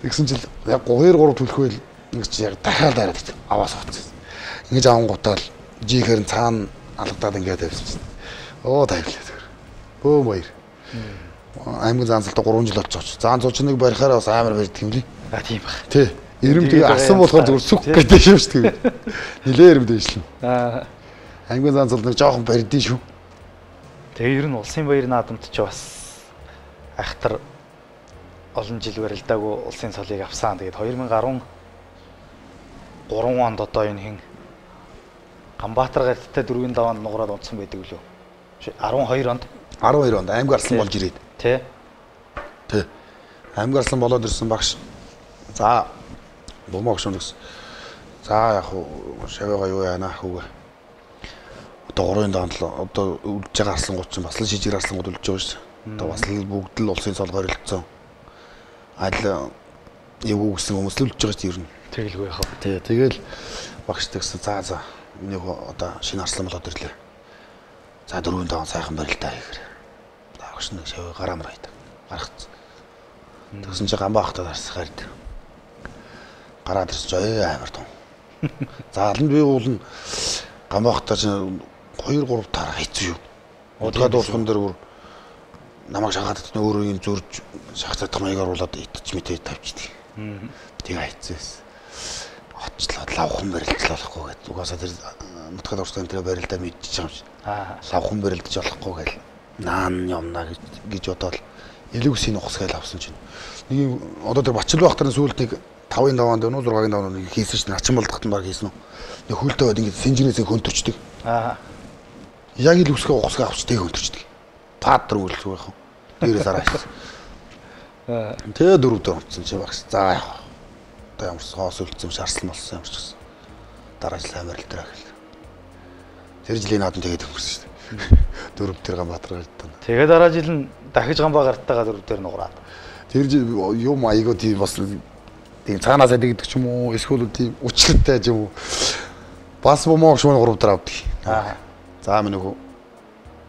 Тэгсэн чил яг 2-3 төлөхөөл ингэж яг дахиад дараад байдаг. Аваас авцсан. Ингэж авангуудаа л жихэр нь цаана алгадаад ингээд тавьсан. Тайвлаа. Бөө баяр. Аймгийн заансалтай 3 жил болчихсон. Заан цуучныг барихаараа бас амар барьдаг юм лий. Тийм баг. Тий. Ирэм тэгээ асан болохоор зүгээр сүх гэдэг юм шүү дээ. Нилээ ирэм дэвшлэн. Аймгийн заансал нэг жоохон барьдیں шүү. Тэгээ ер нь улсын баяр наадамд ч бас айхтар олон жил барилдаагүй улсын цолыг авсан. Тэгээд 2013 онд одоо энэ хин Ганбаатар гарттай 4-ийн даваанд нугараад унтсан байдаг лөө. 12 онд аймаг арслан болж ирээд. Тий. Аймаг арслан болоод ирсэн багш. За бомог шөнөс. За яг шавьяага юу яана хүүгээ. Одоо 3-ын даваанд л одоо үлдэж байгаа арслангууд чинь бас л шижиг арслангууд үлдэж байгаа шүү. Одоо бас л бүгд л улсын цол хоригдсон. Аль юу гэсэн хүмүүс л үлдэж байгаа шүү ер нь. Тэгэлгүй яхав. Тий. Тэгэл багш тэгсэн. За миний одоо шинэ арслан болоод ирлээ. За 4-ийн даван сайхан барилтаа хийгэр. Багш нэг шавь гараамар хайдаг. Гаргацсан. Тэгсэн чи Ганбаахтаа дарсахаар д. Гараад ирсэн чи амар том. За алан би уулна Ганбаахтаа чи 2-3 таар хайцсан шүү. Удаад дуусхан дээр бүр намайг шахаад өөрөө юм зурж шахацдаг маягаар болоод итч мэтээ тавьчихдаг. Тэгээ хайцсан. Очлоод лавхан барилдлахгүй гэдэг. Угаасаа тэр нутгаад урсан тэр барилдаа мэдчихэж байгаа юм шиг. Лавхан барилдаж болохгүй гэл наан юмна гэж бодоод элүүсийн ухс гээл авсан чинь. Нэг одоо тэр Бачил багтарын сүүлд нэг 5-ын 5-анд өнөө 6-ын 5-анд нэг хийсэн чинь начин болдохт нь баг хийсэн үү. Нэг хөлтөө бод ингэ синжинээсээ хөнтөрчдөг. Яг элүүсгээ ухсгаа авч тэг хөнтөрчдөг. Паатар үлсэх байх. Дээрээс араас. Тэгээ 4 дор унтсан чи багш. За яах. Одоо ямар соос үлдсэн шарслан болсон юм шиг. Дараа жил амир л дөрөө гэл. Тэр жилийн наадам тэгээд өнгөрсөн шүү дээ. 4 тэр Ганбаатар гардаа. Тэгээ дараа жил нь дахиж Ганбаатартайгаа 4 дээр нугараад. Тэр жил юм айгуу тийм бас тийм цаанаасаа дэгдэг ч юм уу эсвэл тийм үчлэгтэй ч юм уу. Бас бомоо шүүн 3 дээр авдаг. За минь нөгөө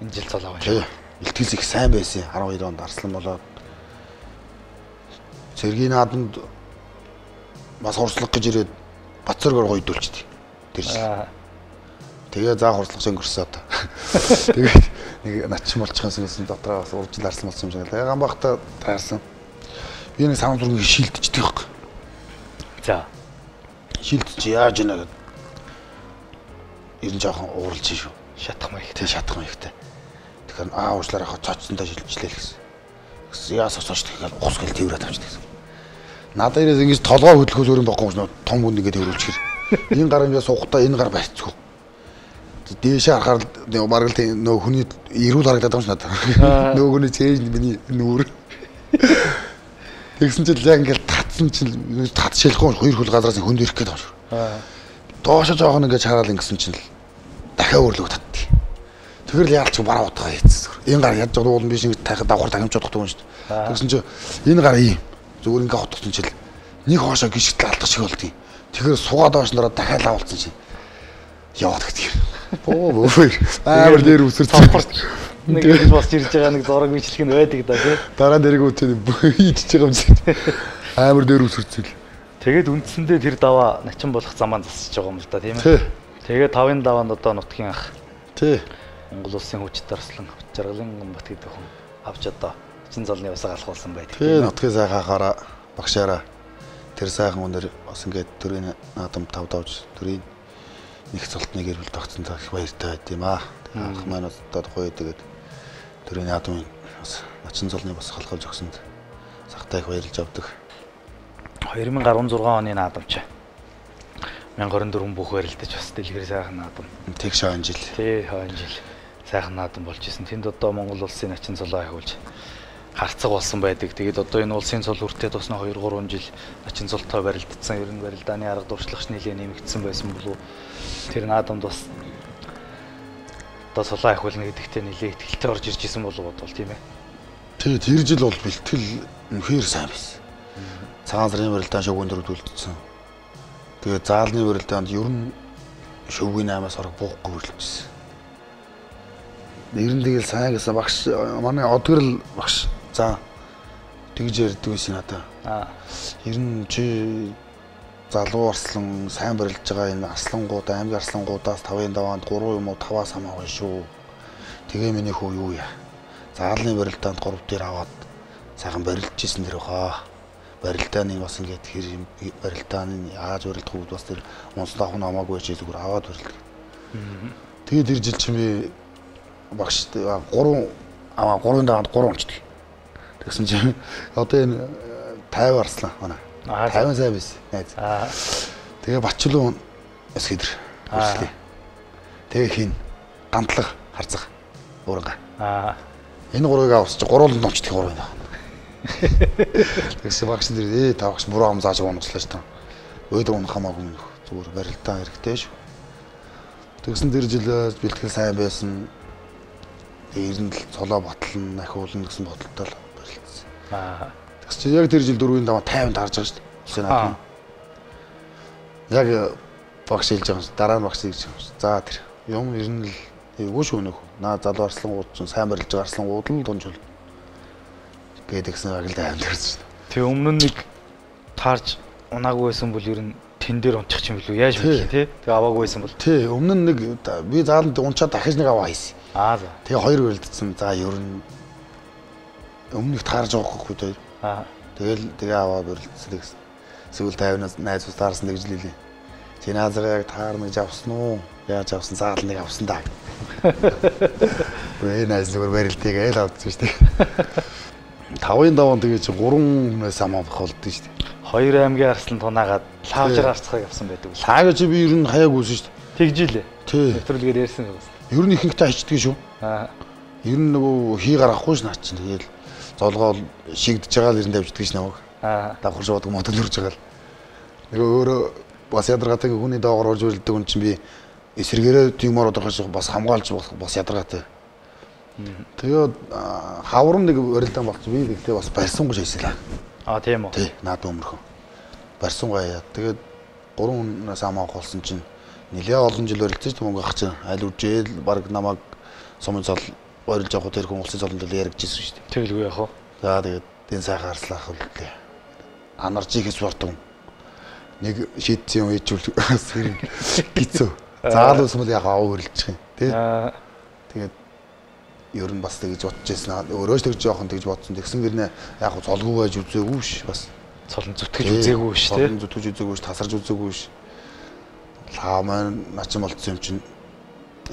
энэ жил цолоо байна. Илтгэл их сайн байсан. 12 онд Арслан болоод Цэргийн наадамд бас хурцлах гэж ирээд Бацоргоор гоё дүүлчихдээ. Тэр жил. Тэгээ заа хурцлагч өнгөрсөн одоо. Тэгээд нэг начин болчихсон гэсэн дотроо бас уржил Арслан болсон юм шиг. Тэгээ Ганбаатар таарсан. Би нэг санам зургийг шилдчихдэг байхгүй. За. Шилдчих яаж ийна гэд. Ирэн жоохон ууралж шүү. Шатах маягтай. Тэг шатах маягтай. Тэгэхээр уучлаарай хаа цоцсондоо шилжлээ л гэсэн. Яасаа цоч тэгэхээр ухс гэл тэрврээд авчихдаг гэсэн. Надад ирээс ингэж толгой хөдлөхөөс өөр юм байхгүй юм том хүн ингэ тэрвүүлчихэр. Энэ гар ингэ суухдаа энэ гар байцгүй. Дээшээ харахаар бараг л нөө хүний эрүүл харагдаад байгаа юм шиг надад. Нөө хүний цээж миний нүүр. Тэгсэн чинь яг ингэ татсан чинь тат шилэхгүй хоёр хөл газраас хөнд ирэх гээд байна. Доошо жоохон ингэ хараад ингэсэн чинь дахиад өөрлөг татдаг. Тэгэхээр л яалч бараа утгаа хийцсэн. Энэ гар яаж жоо уулан биш ингэ тахад давхар тагимч бодох юм шүү дээ. Тэгсэн чинь энэ гар ийм зүгээр ингэ хотгосон чинь нэг хоошоо гიშгтэл алдах шиг болдгийг. Тэгэхээр сугаа доош нараа дахиад авалцсан чинь яваад гэдэг. Бөө амар дээр үсэр цавхарт нэг гэж босч ирж байгаа нэг зураг бичлэг нь байдаг да тий. Дараа дэрэг үтээ хийчихэж байгаа юм шиг. Амар дээр үсэрцэл. Тэгээд үндсэндээ тэр даваа начин болох замаа засаж байгаа юм л да тийм ээ. Тэгээд 5-ын даваанд одоо нутгийн ах. Тий. Монгол улсын хүчтэй Арслан Жаргалын Ганбат гэдэг хүн авч одоо чин золны усаа алхуулсан байдаг. Тий, нутгийн сайхаараа багшаараа тэр сайхан өнөр бас ингээд төрийн наадам 5 давж төрийн нэг цолтны гэрэл тогтсон их баяртай байд юм аа. Ах маань одоо гоё тэгээд төрийн наадмын бас начин золны бас халахж өгсөнд сахтай их баярлж авдаг. 2016 оны наадамч 1024 бүх барилдаж бас дэлгэр сайхан наадам. Тэг шаан жил. Тий, хойно жил сайхан наадам болж исэн. Тэнд одоо Монгол улсын начин цолоо ахиулж харцаг болсон байдаг. Тэгээд одоо энэ улсын цол хүртээ тусна 2-3 жил начин цолтой барилдсан. Ер нь барилдааны арга дуршлагч нэлээд нэмэгдсэн байсан болов. Тэр наадамд бас одоо цолоо ахиулна гэдэгтээ нэлээд ихтэй орж ирж исэн болов бодвол тийм ээ. Тий, тэр жил бол бэлтгэл үнэхээр сайн байсан. Цагаан сарын барилдаан шөвгөн дөрөвд үлдсэн. Тэгээд заалны барилдаанд ер нь шөвгийн 8-аас орог буухгүй хөрлөжсэн. Нэрэн тэгэл сайн гэсэн багш манай одгөрл багш. За тэгж ярьдаг байсан надаа. Ер нь чи залуу Арслан сайн барилж байгаа энэ Арслангууд аймгийн Арслангуудаас 5-ын даваанд 3 юм уу 5-аас хамаагүй шүү. Тэгээ миний хүү юу яа. Заалны барилдаанд 3 дээр аваад сайхан барилж ирсэн дэр хаа. Барилдааны бас ингээд хэр барилдааны яаж барилдах вэ бас тэр онцлог нь хамаагүй ч зүгээр аваад барилдаг. Тэгээд тэр жил чи би багш 3-ын даваанд 3 онцдаг. Тэгсэн чи одоо энэ 50 Арслан манай 50 сайн байсан. Найз. Тэгээ Бачлуу эсгэдэр хүрслээ. Тэгээ хин гантлаг харцаг уурга. Энэ 3-ыг авсч 3-нд онцдаг 3-ын даваа. Тэгсэн багш нэр тавагч буруу ам зааж унаглаа шүү дээ. Өдөр унах хамаагүй нөх зүгээр барилдаа хэрэгтэй шүү. Тэгсэн тэр жил бэлтгэл сайн байсан. Ер нь л цолоо ботлон ахиулна гэсэн бодолтой л барилдсан. Тэгсэн чи яг тэр жил 4-ийн даваа 50-нд харж байгаа шүү дээ. Улсын наадам. Яг багш хэлж байгаа юм. Дараа нь багш хэлж байгаа юм. За тэр юм ер нь л эвгүй шүү нөх. Наа залуу Арслангууд ч сайн барилж байгаа Арслангууд л дунжул. Гэдэгсэн агилд аймд ирсэн. Тэг өмнө нь нэг таарж унаагүй байсан бол ер нь тэн дээр унчих юм билүү яаж мэдээ тий. Тэг аваагүй байсан бол. Тий өмнө нь нэг би зааланд унчаад дахиж нэг аваа хийсэн. За. Тэгээ 2 барилдсан. За ер нь өмнөх таарж байгаагүй дээ. Тэгээ аваа барилдсан гэсэн. Сүүл 50-наас найзууд таарсан гэж лээ. Зиназар яг таар нэг авсан уу? Яаж авсан заал нэг авсан даа. Вэ найз зүгээр барилтыг айл авдсан шүү дээ. 5-ын даван тэгээ чи 3 хүнээс амаах болдсон шүү дээ. 2 аймгийн арслан тунаагаад лаавжаар арцхаг явсан байдаг. Лаага чи би ер нь хаяаг үүсэн шүү дээ. Тэгжилээ. Тий. Нэвтрүүлгээр ярьсан юм. Ер нь ихэнхдээ хичдэг шүү. Ер нь нөгөө хий гарахгүй ш наа чинь тэгэл золгоо шигдэж байгаа л ер нь давждаг ш намайг. Давхар шуудаг мотол үрж байгаа л. Нөгөө өөрөө бас ядаргаатай хүний доогоор орж үлддэг хүн чинь би эсрэгээрээ тиймэр одорхоос бас хамгаалж бас ядаргаатай. Тэгээд хаврам нэг өрөлдөн болчих би тэгтээ бас барьсангүй шийсэлээ. Тийм үү. Тий, наад өмөрхөн. Барьсангүй яа. Тэгээд 3 хүнээс амаах болсон чинь нэлээ олон жил өрөлдсөн юм ах чинь аль үжээл баг намайг сумын зол ойрлж явах тэр хүн улсын золонд л яригдчихсэн шүү дээ. Тэгэлгүй яах вэ? За тэгээд энэ сайхан арслаах үлдээ. Анаржих спортон нэг шийдсэн юм ээжүүл гизөө. Заал усмал яг аав хөрлөчих юм тий. Тэгээд ер нь бас тэгж бодож байсан. Өөрөө ч тэгж жоохон тэгж бодсон. Тэгсэн гэрнэ яг золгүй байж үзээгүй ш бас. Цолон зүтгэж үзээгүй ш тий. Цолон зүтгэж үзээгүй ш, тасарж үзээгүй ш. Лаа маань начин болцсон юм чинь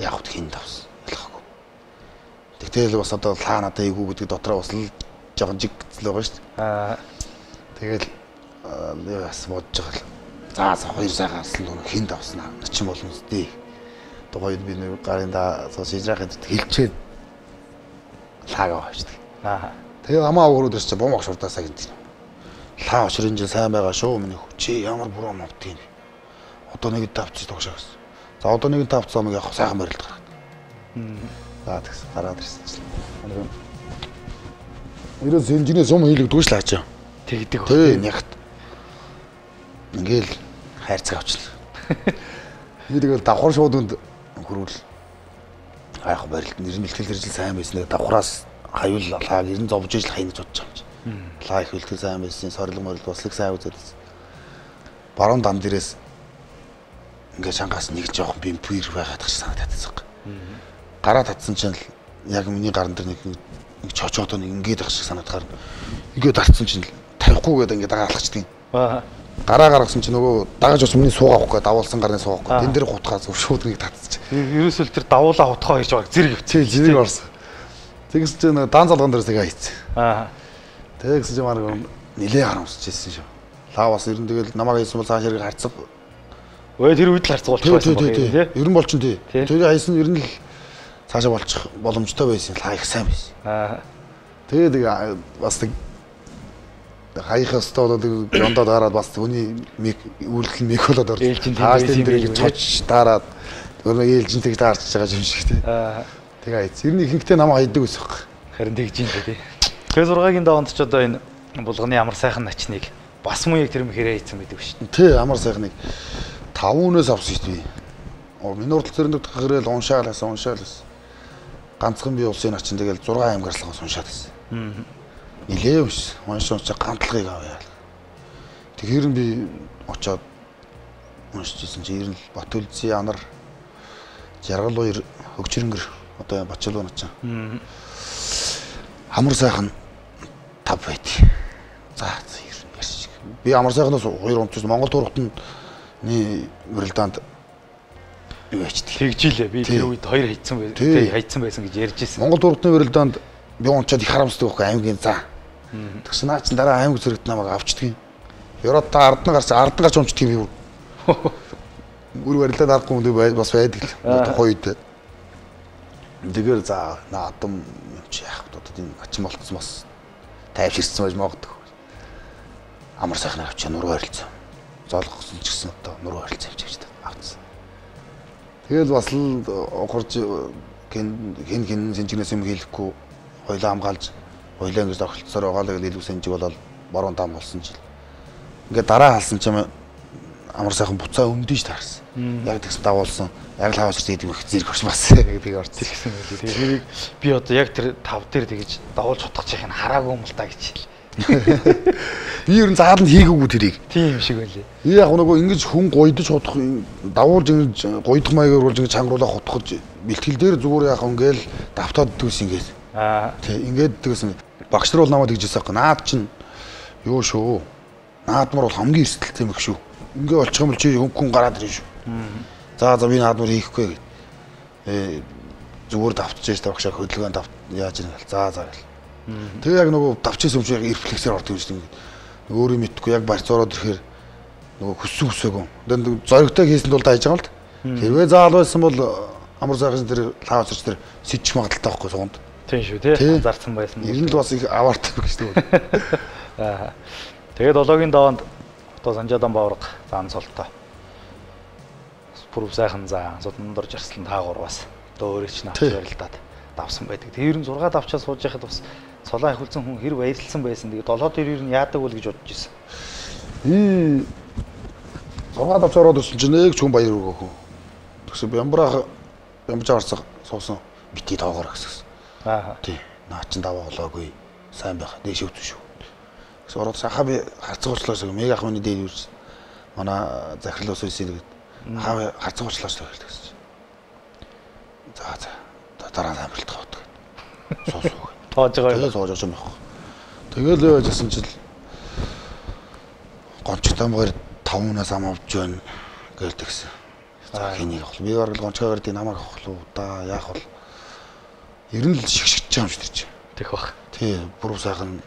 яг хин давс. Ялахгүй. Тэгтэл бас одоо лаа надаа ийгүү гэдэг дотроо бас л жоохон жигцэл байгаа ш. Тэгэл яас бодож байгаа л. За 2 сайхан арслан дуу хин давснаа. Начин болно үстэй. Тухайд би нэг гарын да шижрахад хэлчээд лаагаа авчихдаг. Тэгээ амаа өгөрөөд ирч бом огшурдаасаа гинт. Лаа очрын жин сайн байгаа шүү миний хүү. Чи ямар буруу мовдгийг. Одоо нэг давцыг тогшоос. За одоо нэг давцаа мэг явах сайхан барилт гараад. За тэгс гараад ирсэн чинь. Ерөөс инженеэр сум хийлэгдгүй ш лаачаа. Тэгдэг. Тий, нягт. Ингээл хайрцаг авчихлаа. Би тэгэл давхар шууданд хөрвөл айх барилт нэр нь бэлтгэл хэрэгжил сайн байснаа давхраас хаюул лааг ер нь зовж ижил хай гэж бодож байгаа юм чи. Лаа их бэлтгэл сайн байсан, сорилго морилго бослог сайн үзээд. Баруун дан дээрээс ингээд шангаас нэг жоохон бимпир байгаад гэж санагдаад байсан. Гараа татсан чинь яг миний гаран дээр нэг чочоодоо нэг ингээд ах шиг санагдахаар ингээд дарцсан чинь тавихгүй гэдэг ингээд дагаалгачдаг юм. Гараа гаргасан чинь нөгөө дагаж ус миний суугаахгүй давуулсан гарны суугаахгүй тэн дээр хутгаа зөв шууд нэг татчих. Ерөөсөл тэр давуулаа хутгаа хийж байгаа зэрэг өвчтэй зэрэг орсон. Тэгс чинь дан залган дээрээс тэгээ хайцсан. Тэгс чинь марг нилээ харамсчихсэн шүү. Лаа бас ер нь тэгэл намайг хийсэн бол цааш хэрэг харцаг. Өө тэр үед л харцуулчих байсан баг тий. Ер нь болчин тий. Тэр хайсан ер нь л цаашаа болчих боломжтой байсан. Лаа их сайн байсан. Тэгээд бас хайхаас одоо жондоо дараад бас хүний үйлдэл мик болоод орж. Хааш дээр цоч дараад өөрөө ээлжинтэйг таарч байгаа юм шиг тий. Тэгээ айц. Ер нь ихэнхдээ намайг хайдаг ус баг. Харин тэгж юм тий. Тэгээ 6-гийн даванд ч одоо энэ булганы амар сайхан начныг бас муу яг тэр мөхөрөө хийсэн байдаг шүү. Тий, амар сайхныг 5 өнөөс авсан шүү дээ. Миний урдл зэрэнд гэрэл уншаалаас. Ганцхан би улсын начин тэгэл 6 аймгаарлахаас уншаад байсан. Нилээ ус. Уншиж ганцлагыг авъя. Тэгэхээр би очоод уншижсэн чи ер нь Батүлзийн анар Жаргал 2 хөгжрөнгөр одоо Бачаалуу начаа. Амар сайхан 5 байт. За ер нь ярьчих. Би амар сайхнаас 2 унцсан Монгол турхтанд уралдаанд юу ячдаг. Тэгжилээ. Би тэр үед 2 хайцсан байсан. Тэ хайцсан байсан гэж ярьж ирсэн. Монгол турхтны уралдаанд би унчаад их харамсдаг байхгүй аймгийн за. Тэгсэн наа чин дараа аймаг зэрэгт намайг авчдаг юм. Ерөөд та ард нь гарч унчдаг юм. Бүр барилдаад аргагүй юм бас байдаг л. Тухайн үед. Тэгээр за наадам юм чи яах вэ? Одоо энэ ачин болтсон бас тайвширсан байж магадгүй. Амар сайхнаар авчаа нуруу харилцсан. Зоолгосон ч гэсэн одоо нуруу харилцсан явж авцсан. Тэгэл бас л ухарж хин сэнжигнээс юм хийхгүй хоёлаа хамгаалж хоёлаа ингэж орхилцсоор байгаа л илүү сэнжиг болоод баруун дам болсон жил. Ингээ дараа халсан ч юм амар сайхан буцаа өмдөж таарсан. Яг тэгс давуулсан. Яг л хаваач гэдэг их зэрэг орч бас гэдэг орч ирсэн байлээ. Тэгээд би одоо яг тэр 5 дээр тэгэж давуулж утгачих нь хараагүй юм л та гэж. Би ер нь зааланд хийгээгүй тэрийг. Тийм шиг байлээ. Би яг нөгөө ингэж хүн гойдож хутах давуулж ингэж гойдох маягаар болж ингэж чангруулах хутгаж бэлтгэл дээр зүгээр яах ингээл давтаад дүүс ингэж. Тэг ингээд дэгсэн багш нар бол намайг тэгжсэн байхгүй. Наад чинь юу шүү. Наадмар бол хамгийн эрсдэлтэй юм их шүү. Ингээ болчих юм бол чи хүн гараад ирнэ шүү. За би наадмаар хийхгүй гэд. Зүгээр давтчихж тавхшаа хөдөлгөөн яаж ирнэ гэл. За гэл. Тэгээ яг нөгөө давчээс өмч яг рефлексээр ордог юм шиг ингээд. Өөрөө мэдхгүй яг барьцоороод ирэхээр нөгөө хүссэн хүсээгүй. Тэгээд зоригтой хийсэнд бол дайж байгаа л да. Хэрвээ заал байсан бол амар сайхан тэр лаавцч тэр сэжих магадaltaй байхгүй суунд. Тийм шүү тий. Зарцсан байсан. Ер нь л бас их аваартай гэж дээ. Аа. Тэгээд долоогийн даваанд одоо Санжаадан Бавраг заан солтой. Пүрв сайхан заа Судандар Жарслан таагуур бас одоо өөрөө ч навч барилдаад давсан байдаг. Тэгээ ер нь 6 давчаа сууж яхад бас цолоо ахиулсан хүн хэр баярлсан байсан. Тэгээ 7 дээр ер нь яадаг бол гэж бодож ирсэн. 6 давчаа ороод ирсэн чинь нэг ч хүн баяр өгөхгүй. Тэгсэн Бямбраах Бямбж аварцаг суусан бити тоогоор гэсэн. Аа. Тий. Наа чин даваа болоогүй. Сайн байх. Дээш өвдөн шүү. Тэгсэн ороод сахаа би харцагуучлаас мега ах миний дээр юурс. Манай захирал ус үсээ гэдэг. Хаа харцагуучлаас гэсэн. За. Дараа нь амралт гавдаг. Суусуу. Тоож байгаа. Тэгээ тоож байгаа юм байна. Тэгэл яжсэн чил гончтой мөр 5 унаас ам авч байна гэлдэгсэн. За хэнийг авах. Би бараг гончгоор дий намайг авах уу да яах вэ? Ер нь л шигшгэж байгаа юм шиг тэр чинь. Тэг бах. Тий, бүр сайхан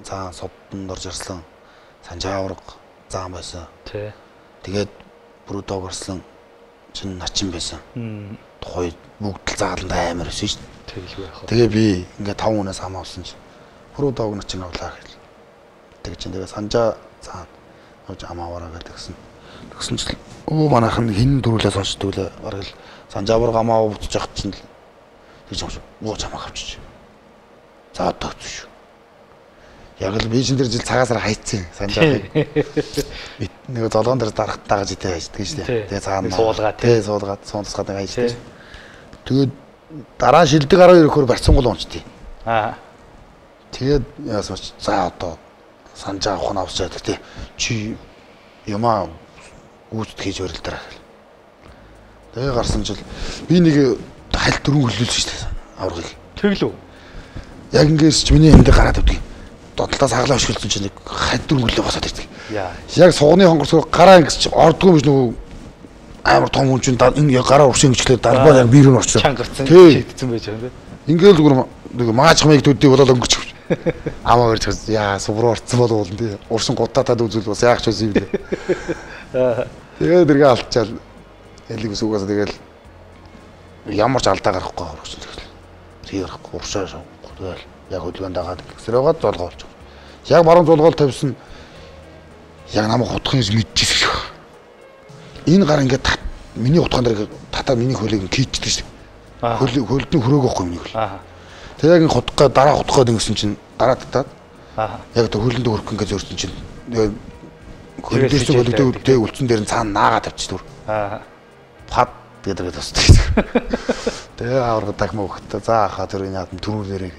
цаан Судандар Жарслан Санжаавраг заан байсан. Тий. Тэгээд бүр доогорслон чин начин байсан. Тухай бүгд л зааланд амар байсан шүү дээ. Тэгэл байх. Тэгээ би ингээ 5 унаас ам авсан чинь бүр доог начин авлаа гэл. Тэг чинь тэгээ Санжаа цаан авч ам аваараа гэдгсэн. Тэгсэн чинь манайхан хин дөрүүлээ сонсдог лээ. Бараг л Санжаавраг ам аваа бутж явах чинь л гэж юм шиг муу чамаа авчиж. За одоо шүү. Яг л би чинь тэр жил цагаасаар хайцсан Санжаавраг. Нэг золгоон дээр дарахт дагаж идэ хайждаг шүү дээ. Тэгээ цаана суулгаад суулгаад суунцгаад хайждаг. Тэгээд дараа шилдэг 12 өгөхөр барьцангуул унцдیں۔ Аа. Тэгээд яасан ч за одоо Санжаа авах нь авчаад тий. Чи юмаа гүйцэд хийж өрөлдөр. Тэгээ гарсан жил би нэг хальт дөрөв хөлөөлсөн шүү дээ. Аврагыг. Тэглүү. Яг ингээс ч миний энд гараад өгдөг. Додлоос хаглаа өшгөлсөн чинь нэг хальт дөрөв хөлөө босоод ирдэг. Яа. Яг сугны хонгорсоо гараа ингээс ч ордгүй юм нөгөө амар том хүн чинь энэ гараа уршин гिचлээ дарбаа яг биер нь орчихсон. Чангарсан шийдсэн байж байгаа юм. Ингээл зүгээр нэг мааж хамыг төдий болоод өнгөч. Амаа өрч яа сувруу орцсон болов уу тий. Уршин гутаатаад үзвэл бас яах ч байсан юм бэ. Тэгээд тэргээ алдчаал ялиг ус угаасаа тэгэл ямар ч алдаа гарахгүй орсон тэгэл. Тэр гарахгүй уршаа тэгэл яг хөдөлгөөнд дагаад гэсрээгээд золгоо болж байгаа. Яг баруун зулгуул тавьсан яг намайг хутхын мэдчихсэн шүү. Энэ гар ингээд миний утгаан дээр татаа миний хөлийг кийчдэг шүү. Хөлдний хөрөөг واخгүй миний хөл. Тэгээ яг хутгаа дараа хутгаад ингэсэн чинь дараа татаад. Яг тэр хөлөндөө хөрөх ингээд зөрсөн чинь хөлдөөс хөлдөө үлдсэн дээр нь цаана наагаа тавьчих түр. Пад гэдэг тусдаг. Тэгээ авраг дахин өгөхтэй. За хаа тэр энэ хатан төрүүлээрээ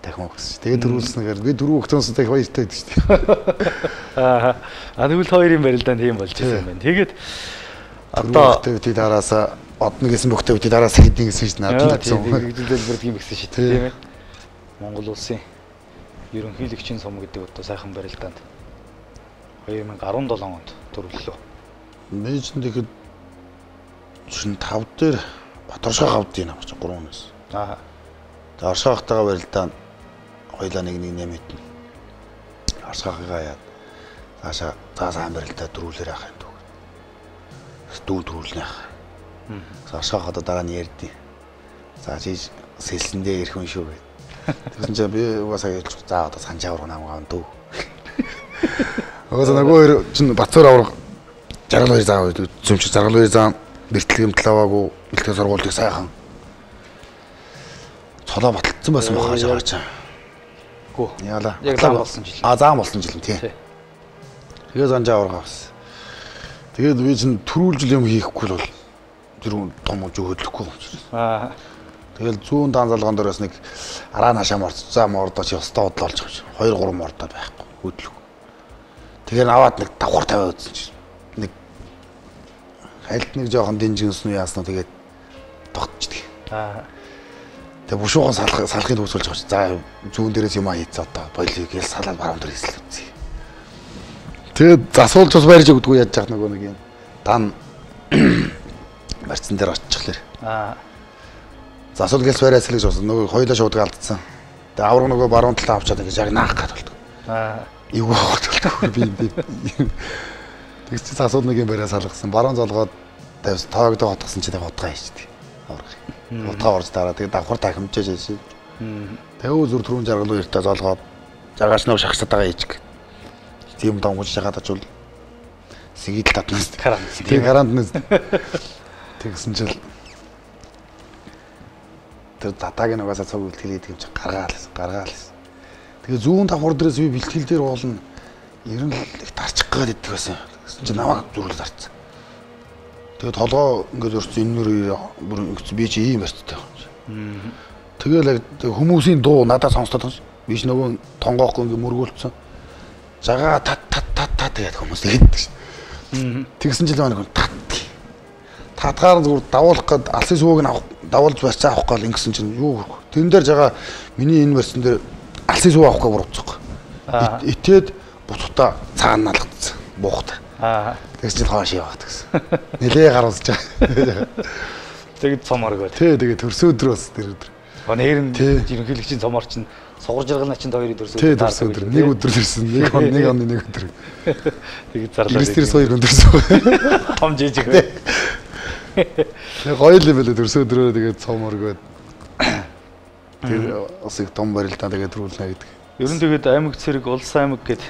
дахин өгсөн. Тэгээ төрүүлснээр би дөрөв өгтөнс дахин баяртай байдаг шүү. Аа. Тэгвэл хоёрын барилдаанд тийм болж байсан юм байна. Тэгээд одоо activity дараас одногсэн activity дараас хэдийн гэсэн чинь надад тийм хэлбэрд юм гэсэн шүү дээ тийм ээ. Монгол улсын ерөнхийлөгчийн сум гэдэг одоо сайхан барилдаанд 2017 онд төрөллөө. Мэж тэгэхэд чинь 5 дээр Баторшаа гавдын юм чинь 3-аас. Аа. Тэгээ Оршаа хатагаа барилдаанд хоёлаа нэг нэмэт. Оршаагаа яа. Цаашаа сайн барилдаа дөрүүлэр яах юм дөө. Дүү дөрүүлнэ яах. Оршаа хатаа дараа нь ярдیں۔ За чи сэлсэндээ ирэх хүн шүү гэд. Тэгсэн чинь би угаасаа ялч за одоо Санжаавраг намайг аван дөө. Угаасаа нөгөө хоёр чинь Бацуур авраг жаргал хоёр заа зүмч жаргал хоёр заа бэртлэгэм талаваагүй бэлтгэл сургуулийг сайхан цолоо баталсан байсан бохоо жаач. Гүү. Яалаа. Яг заан болсон жил. Заан болсон жил юм тий. Тэгээ Санжаавраг авсан. Тэгээд би чинь төрүүлжил юм хийхгүй л бол тэр том үж хөдлөхгүй юм чинь. Аа. Тэгэл зүүн данзалгоон дээрээс нэг араа нашаа морцоо мордоо чи өстө бодлоо олж байгаа. 2 3 мордоо байхгүй хөдлөх. Тэгэхээр аваад нэг давхар тавиа үзсэн чинь нэг хайлт нэг жоохон динжинсэн яаснаа тэгээд тогтчихдаг. Аа. Тэгээ бушуухан салахыг үүсүүлж байгаа. За зүүн дээрээс юм аа хийцээ одоо болиг гээл салаад баруун дээр хийсэн үзье. Тэгээд засуулж бас барьж өгдөггүй яаж яах нөгөө нэг юм. Дан барьцсан дээр оччихлаа. Засуул гэлс бариас л гэж болсон. Нөгөө хоёулаа шуудаг алдсан. Тэгээд авраг нөгөө баруун талаа авчаад ингэж яг наах гад болдог. Юу болдог би. Тэгс чи засуул нэг юм бариас салгасан. Баруун залгаад тавьсан тоогдоо хотгосон чи тэгээд утгаа хийждэг. Авраг. Утгаа орж дараа тэгээд давхар тахимжээж шээ. Тэгээд зүр түрүүн жаргал уяртаа золгоод жаргаач нөө шахсаад байгаа хийж. Тийм донгож жагаад очвол сэгидэл татнаас тийм гарантнаас тэгсэн чил тэр татагийн угаасаа цог бэлтгэлээд юм чи гаргаал. Тэгээ зүүн давхар дээрээс би бэлтгэл дээр уулна. Ер нь л их тарчих гээд иддэг байсан. Тэгсэн чи намайг зүрхэл зарцсан. Тэгээ толгоо ингээд өрсөн энэ бүр би чи ийм барьцтай юм. Тэгээл хүмүүсийн дуу надад сонсдог юм. Биш нөгөө тонгоохгүй ингээд мөргүүлсэн. Жагаа тат тэгээд хүмүүс хэлдэг шин. Тэгсэн жил маань тат. Татгаар зүгээр давуулах гээд алсын сувыг давуулж барьцаа авах гал ингэсэн чинь юу тэрэн дээр жагаа миний энэ барьсан дээр алсын сув авах гээд буруцсан. Итээд буцуудаа цаана налгацсан. Буухта. Тэгсэн чинь хоош яваад гэсэн. Нилээ гаруулж байгаа. Тэгээд цоморгоо. Тэгээд төрсөн өдөр бас тэр өдөр. Нэр нь ерөнхийлөгчийн цомор чинь сугар жаргал начин хоёрын төрсөн өдөр. Төрсөн өдөр. Нэг өдөр төрсөн. Нэг оны нэг өдөр. Тэгээд зарлаа. Эрсдэрс хоёр өндөрсөн. Том жижиг бай. Нэг гоё л байлаа төрсөн өдрөө тэгээд цоморгоо. Тэгээд бас их том барилдаа тэгээд төрүүлнэ гэдэг. Ер нь тэгээд аймаг цэрэг улс аймаг гэдэг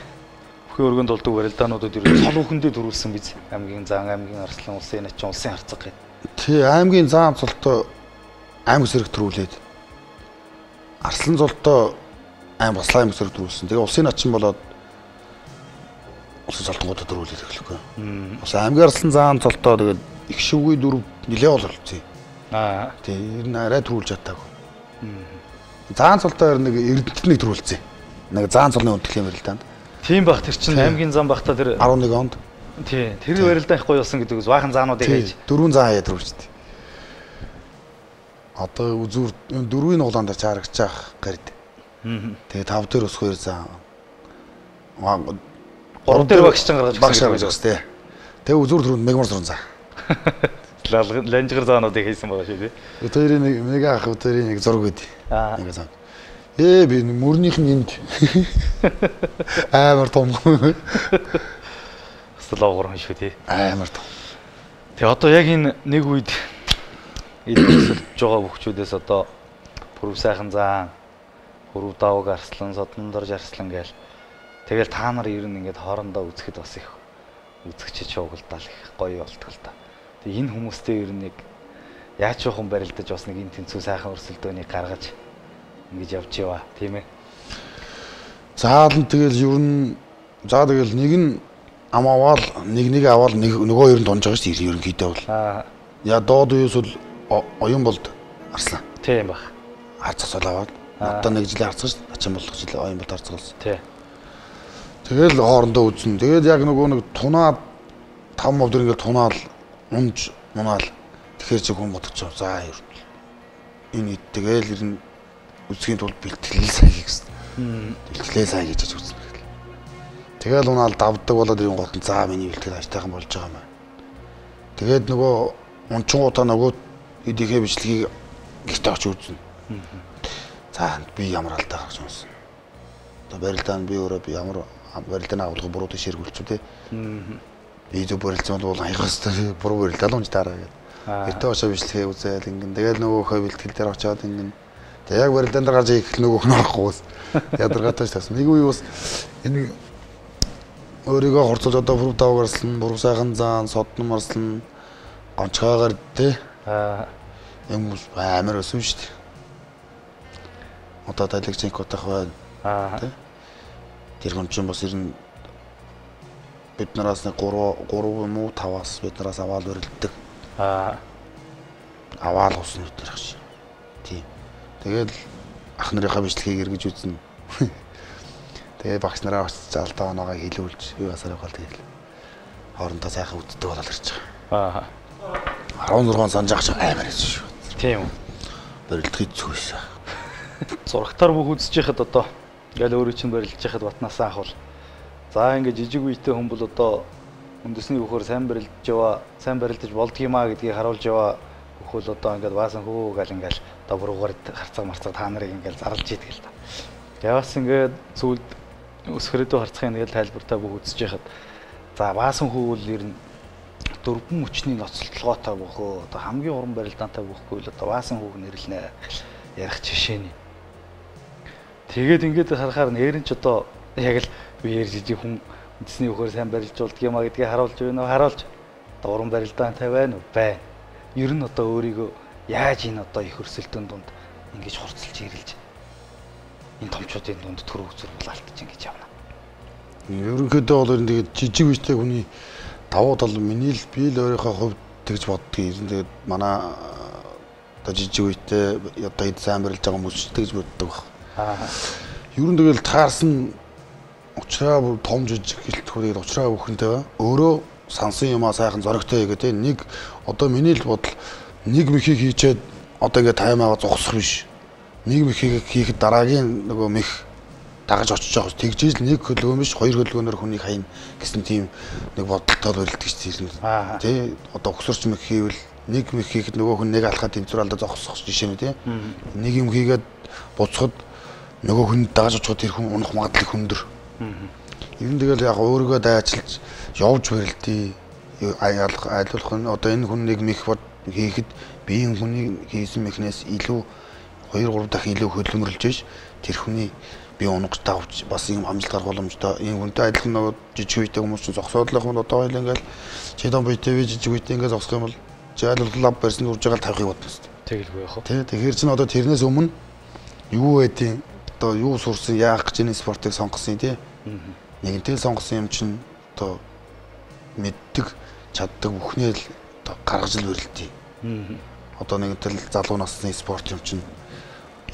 бүхэн өргөнд болдог барилдаануудад ер нь цол бүхэндээ төрүүлсэн биз. Аймгийн зан, аймгийн арслан, улсын начин, улсын харцаг гэдэг. Тий, аймгийн зан цолтой аймаг цэрэг төрүүлээд арслан золтой бас аймаг цэрэг төрүүлсэн. Тэгээ улсын начин болоод улсын цолтонгуудад төрүүлээд эхлэхгүй. Бас аймгийн арслан зан цолтой тэгээд их шивгүй дөрөв нилээ бололцсон. Тий, ер нь арай төрүүлж чадаагүй. Заан цолтой нэг эрдэнэт нэг төрүүлсэн. Нэг заан цолны үндэхлийн барилдаанд. Тийм бах тэр чинь аймгийн зам бахта тэр 11 онд. Тий, тэр барилдаан их гоё болсон гэдэг үс баахан заануудыг хийж. Дөрвөн зан хаяа төрүүлжтэй. Одоо үзүүр дөрвийн углаан дээр чарагч ах гард. Тэгээ тав дээр ус хоёр зан. Гурав дээр багш чинь гаргаж өгсөн тий. Тэгээ үзүүр дөрөнд мегмар зуран зан. Ланжгар заануудыг хийсэн байгаа шүү тий. Өтөрийн нэг мега ах өтөрийн нэг зураг өгд. Нэг зан. Би мөрнийх нь энд амар том. Слогор шүү тий. Амар том. Тэгээ одоо яг энэ нэг үед эдгэрсэлж байгаа хөвчүүдээс одоо пүрэв сайхан зан, пүрэв давг арслан, содондорж арслан гээл. Тэгэл та нар ер нь ингээд хоорондоо үзэхэд бас их үзэгчид шуугилдаал их гоё болтгол та. Тэгээ энэ хүмүүстэй ер нь нэг яаж жоохон барилдаж бас нэг энэ тэнцүү сайхан өрсөлдөөнийг гаргаж ингэж явж яваа тийм ээ. Заалан тэгэл ер нь тэгэл нэг нь ам аваал нэг аваал нөгөө ер нь дунж байгаа шүү дээ ерөнхийдөө бол. Яа доод үеэс бол оюун болд арслан. Тийм баг. Арц цацал аваад одоо нэг жилийн арцгаж ачин болгох жил оюун болд арцгалсан. Тий. Тэгэл хоорондоо үзэн. Тэгээд яг нөгөө нэг тунаад 5% дээр ингээд тунаал унж мунаал тэгэхээр чи хүн бодчих. За ер нь энэ тэгэл ер нь үзхийн тулд бэлтгэлээ сайн хийх гэсэн. Бэлтгэлээ сайн хийж үзнэ. Тэгэл унаал давдаг болоод ирэн гол нь за миний бэлтгэл ажтайхан болж байгаа юм байна. Тэгээд нөгөө унчингуудаа нөгөө эдийнхээ бичлэгийг гэртээ очиж үзнэ. За би ямар алдаа гаргаж унсан. Одоо барилдаанд би өөрөө би ямар барилдааны агуулга буруудыг ширгүүлчихв те. Би зөв барилдсан бол хаягаас буруу барилдаа л унж таараа гэдэг. Гэртээ очиж бичлэгээ үзээл ингэн тэгэл нөгөөхөө бэлтгэл дээр очиод ингэн тэг яг барилдаан дээр гарч ирэх нөгөөх нь орохгүй. Ядаргаатай ч тас. Нэг үе бас энэ өөрийгөө хорцолж одоо пүрэв давг арслан, пүрэв сайхан зан, содном арслан гонцгойгоор те. Юм амар өсөн шүү дээ. Одоо тайлагчийн котах байна. Тэ. Тэр хүн чинь бас ирнэ бид нараас нэг 3 юм уу 5-аас бид нараас аваал өрөлддөг. Аваал усан өтер ах шиг. Тийм. Тэгэл ах нарынхаа бичлэгийг эргэж үзнэ. Тэгээ багш нараа очиж алдаа оноогоо хэлүүлж юу асар яваал тэгэл. Хоорондоо сайхан үддэг болол ирж байгаа. 16 санаж ах амар байсан шүү. Тийм үү. Барилдахыг зүгээс. Зурагтаар бүх үзэж яхад одоо ингээл өөрөө чинь барилдаж яхад батнасаа ах бол За ингээд жижиг үетэй хүн бол одоо үндэсний хөхөр сайн барилдаж болдгиймаа гэдгийг харуулж яваа хөхөл одоо ингээд баасан хөө гал ингээд одоо буруугаар харцаг марцаг та нарыг ингээд зарлж идэг л та. Яваас ингээд зүйлд өсгөрөдөө харцахын ингээд тайлбартаа бүх үзэж яхад за баасан хөө бол ер нь дөрвөн мөчний ноцолтолгоотой бөхөө одоо хамгийн уран барилдаантай бөхгүй л одоо баасан хүүг нэрлэнэ ярих жишээний. Тэгээд ингээд харахаар нэрэн ч одоо яг л үеэр жижиг хүн үндэсний хөхөр сайн барилж болдго юмаа гэдгийг харуулж байна уу? Харуулж одоо уран барилдаантай байна уу? Байна. Ер нь одоо өөрийгөө яаж энэ одоо их өрсөлдөөн дунд ингэж хурцлж ирэлж энэ томчуудын дунд төрөв зүрх булаалтж ингэж явна. Ерөнхийдөө бол ер нь тэгээд жижиг үстэй хүний давуу тал миний л би л өөрийнхөө хувьд тэгж боддгийг. Тэгээд манай одоо жижиг үетэй одоо эд сайн барилж байгаа хүмүүс тэгж боддог баг. Ер нь тэгэл таарсан учраа бүр том жижиг гэлтгүүрийг учраа бүхэнтэй ба өөрөө сансан юмаа сайхан зоригтой гэдэг нэг одоо миний л бодол нэг мөхийг хийчээд одоо ингээд таймаага зогсох биш. Нэг мөхийг хийхэд дараагийн нөгөө мөх дагаж очиж байгаа. Тэгжээс л нэг хөлгөө биш хоёр хөлгөөнөр хүнийг хайн гэсэн тийм нэг бодолтой барилдагч тийм. Тэ одоо өгсөрч мөх хийвэл нэг мөх хийхэд нөгөө хүн нэг алхаад тэмцэр алдаа зогсох жишээ нь тийм. Нэг юм хийгээд буцахад нөгөө хүн дагаж очиход тэр хүн унах магадлал хүндэр. Ер нь тэгэл яг өөрийгөө дайчилж явж барилдъя. Айлуулах нь одоо энэ хүн нэг мэх хийхэд биеийн хүний хийсэн мехнээс илүү 2-3 дахин илүү хөдөлмөрлж биш тэр хүний би унгаж тавж бас юм амжилт гарах боломжтой. Энэ хүнтэй адилхан нөгөө жижиг үетэй хүмүүс чинь зогсоодлох юм одоо хоёул ингээл чидон биетэй би жижиг үетэй ингээд зогсох юм бол жаалууллаа барьсан үрж байгаа тавихыг бодно шүү дээ. Тэгэлгүй яах вэ? Тий, тэгэхээр чинь одоо тэрнээс өмнө юу байдیں۔ Одоо юу сурсан, яах гэж энэ спортыг сонгосон тий. Нэгэнтэй сонгосон юм чинь одоо мэддэг, чаддаг бүхнээ л одоо гаргаж л барилдъя. Одоо нэгэнтэй залуу насны спорт юм чинь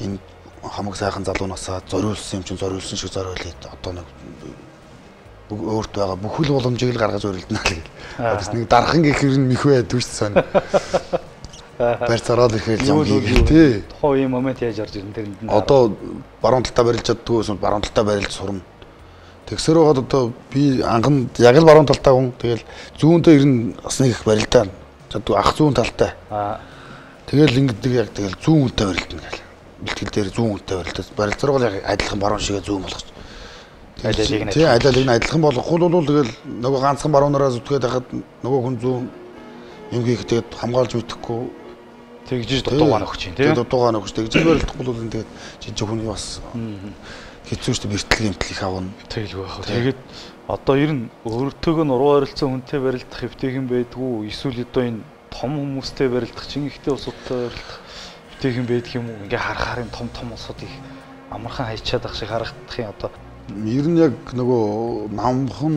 энэ хамаг сайхан залуу насаа зориулсан юм чинь зориулсан шиг зориулъя. Одоо нэг өөрт байгаа бүхэл боломжийг л гаргаж барилдана л гэл. Тэс нэг дархан гэхэр нь мэх байдгүй шүү дээ. Барьцараад ирэхэл юм тий. Тухайн юм момент яаж орж ирэн тэрэнд нь. Одоо баруун талдаа барилж чаддгүй эсвэл баруун талдаа барилж сурна. Тэгсэр байгаад одоо би анган яг л баруун талтай хүн. Тэгэл зүүнтэй ирнэ бас нэг их барилдаа. Чаддгүй ах зүүн талтай. Тэгэл ингэдэг яг тэгэл зүүн үнтэй барилдана гэл. Бэлтгэл дээр зүүн үнтэй барилдаа. Барилцар бол яг адилхан баруун шигээ зүүн болгоч. Тий, адилхан адилхан болохгүй бол тэгэл нөгөө ганцхан баруунаараа зүтгээд хахад нөгөө хүн зүүн юм хийх тэгээд хамгаалж мэдэхгүй тэгжиж дутуугаа нөхч юм тий. Дутуугаа нөхч тэгжиж барилдахгүй бол тэгээд жижиг хүний бас хэцүү шүү дээ бэртэл юмтэл их авна. Тэгэлгүй яах вэ. Тэгээд одоо ер нь өөртөөгөө нуруу ойролцсон хүнтэй барилдах хэвтэйхэн байдгүй эсвэл одоо энэ том хүмүүстэй барилдах чинь ихтэй улсуудтай барилдах хэвтэйхэн байдаг юм уу? Ингээ харахаар том том улсуудыг амархан хайчаад ах шиг харагдах юм одоо. Ер нь яг нөгөө намхан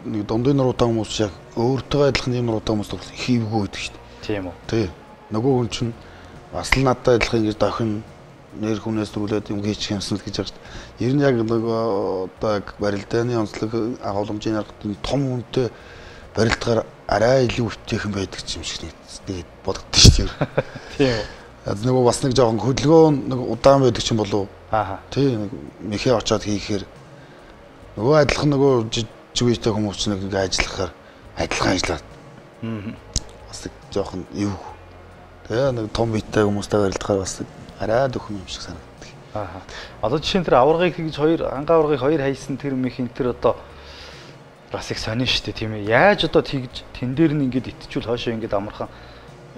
нэг дундын нуруутай хүмүүс яг өөртөө адилхан юм нуруутай хүмүүс бол хийвгүй байдаг шүү дээ. Тийм үү. Тий. Нөгөө хүн чинь бас л надтай адилхан ингэж дохин нэр хүнээс түлээд юм хийчих юмсан л гэж байгаа шүү дээ. Ер нь яг нөгөө одоо яг барилдааны онцлог агуулмжийн арга том хүнтэй барилдахаар арай илүү өвтөйхэн байдаг юм шиг нэг бодогдсон шүү дээ. Тийм үү. Нөгөө бас нэг жоохон хөдөлгөөн нэг удаан байдаг юм болов уу? Тий. Мэхээ очоод хийхээр нөгөө адилхан нөгөө жижиг үетэй хүмүүс нэг ингээ ажиллахаар адилхан ажиллаад. Бас нэг жоохон эв. Тэгээ нэг том биетэй хүмүүстэй барилдахаар бас арай дөхөн юм шиг санагддаг. Одоо жишээ нь тэр аваргыг хийж ангаа аваргыг хоёр хайсан тэр мэх энэ одоо бас их сонин шүү дээ тийм ээ. Яаж одоо тэгж тэн дээр нь ингээд итчүүл хоошоо ингээд амархан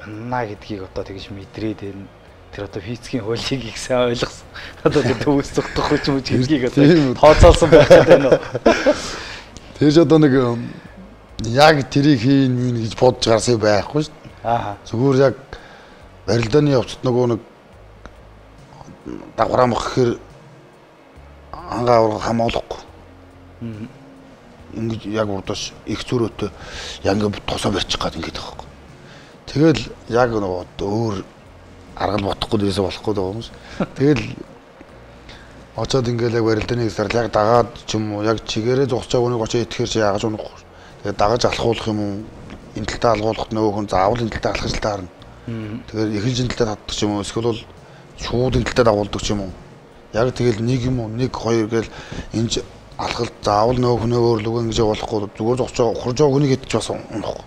юнна гэдгийг одоо тэгж мэдрээд байна. Тэр одоо физикийн хуулийг их сайн ойлгосон. Одоо тэр төвөөс зүгтөх хүч мөч гэдгийг одоо тооцоолсон байх гэдэг нь. Тэгж одоо нэг яг тэрийг хийн мэн гэж бодож гарсан байхгүй шүү дээ. Зүгээр яг барилдааны явцад нөгөө нэг дагвараа мөх гэхээр ангаа авраг хамгаалахгүй. Ингэж яг урдаш их зүрөөтэй яг ингэ тосоо барьчих гээд ингэж байгаа байхгүй. Тэгэл яг нөгөө өөр аргал бодохгүй дээсээ болохгүй байгаа юм шиг. Тэгэл очоод ингээл яг барилдааны хэсгээр яг дагаад ч юм уу яг чигээрээ зогсож байгаа хүнийг очоод итгэхэр чи яагаж унахгүй. Тэгээд дагаж алхуулах юм уу? Энэ талдаа алгуулахад нөгөө хүн заавал энэ талдаа алхаж таарна. Тэгээд эхэлж энэ талдаа татдаг ч юм уу? Эсвэл бол шууд энэ талдаа дагуулдаг ч юм уу? Яг тэгэл нэг юм уу? Нэг хоёр гээл энэ алхалт заавал нөө хүнээ өөрлөгөө ингэж явуулахгүй зүгээр зогсож байгаа ухарж байгаа хүнийг идэж бас унах.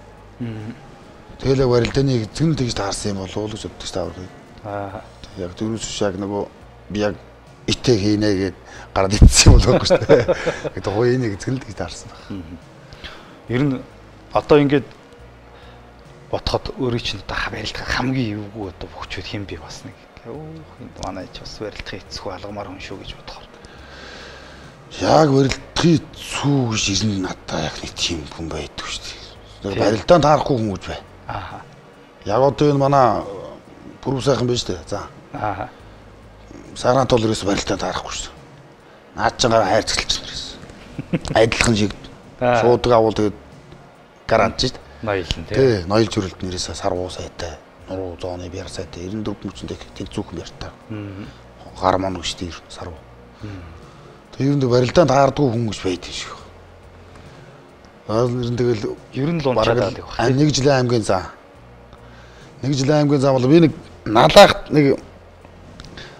Тэгэл яг барилдааны эзэг нь тэгж таарсан юм болов уу гэж боддог таавар. Яг дөрөвс яг нөгөө би яг итэ хийнэ гэд гараад итсэн юм болов уу шүү дээ. Тэгээд хууийн эзэг нь тэгж таарсан баг. Ер нь одоо ингээд бодоход өөрөө чинь одоо барилдах хамгийн эвгүй одоо бөхчүүд хэм би бас нэг. Энд манай ч бас барилдахын эцгүй алгамаар хүн шүү гэж бодохоор. Яг барилдахын эцүү гэж ирнэ надаа яг нэг тийм хүн байдаг шүү дээ. Барилдаанд таарахгүй хүн гэж бай. Яг одоо энэ манай бүрүү сайхан байж дээ. За. Сарант бол ерөөсө барилдаанд таарахгүй шүү. Наад чинь гараа хайрцагч нэрээс. Айдлах нь шиг шуудаг авал тэгээд гарант шүү дээ. Ноёлн тий. Ноёлж өрөлд нэрээс сарвуу сайтай, нуруу зооны бяр сайтай 94 мөчөндөө тэнцүүхэн бяртаа. Гар мон гэж тий сарвуу. Тэгээд барилдаанд таардгүй хүн гэж байдаг шүү. Тэгэл ер нь л унчаад байх. Нэг жилийн аймгийн зам. Нэг жилийн аймгийн зам бол би нэг налаахт нэг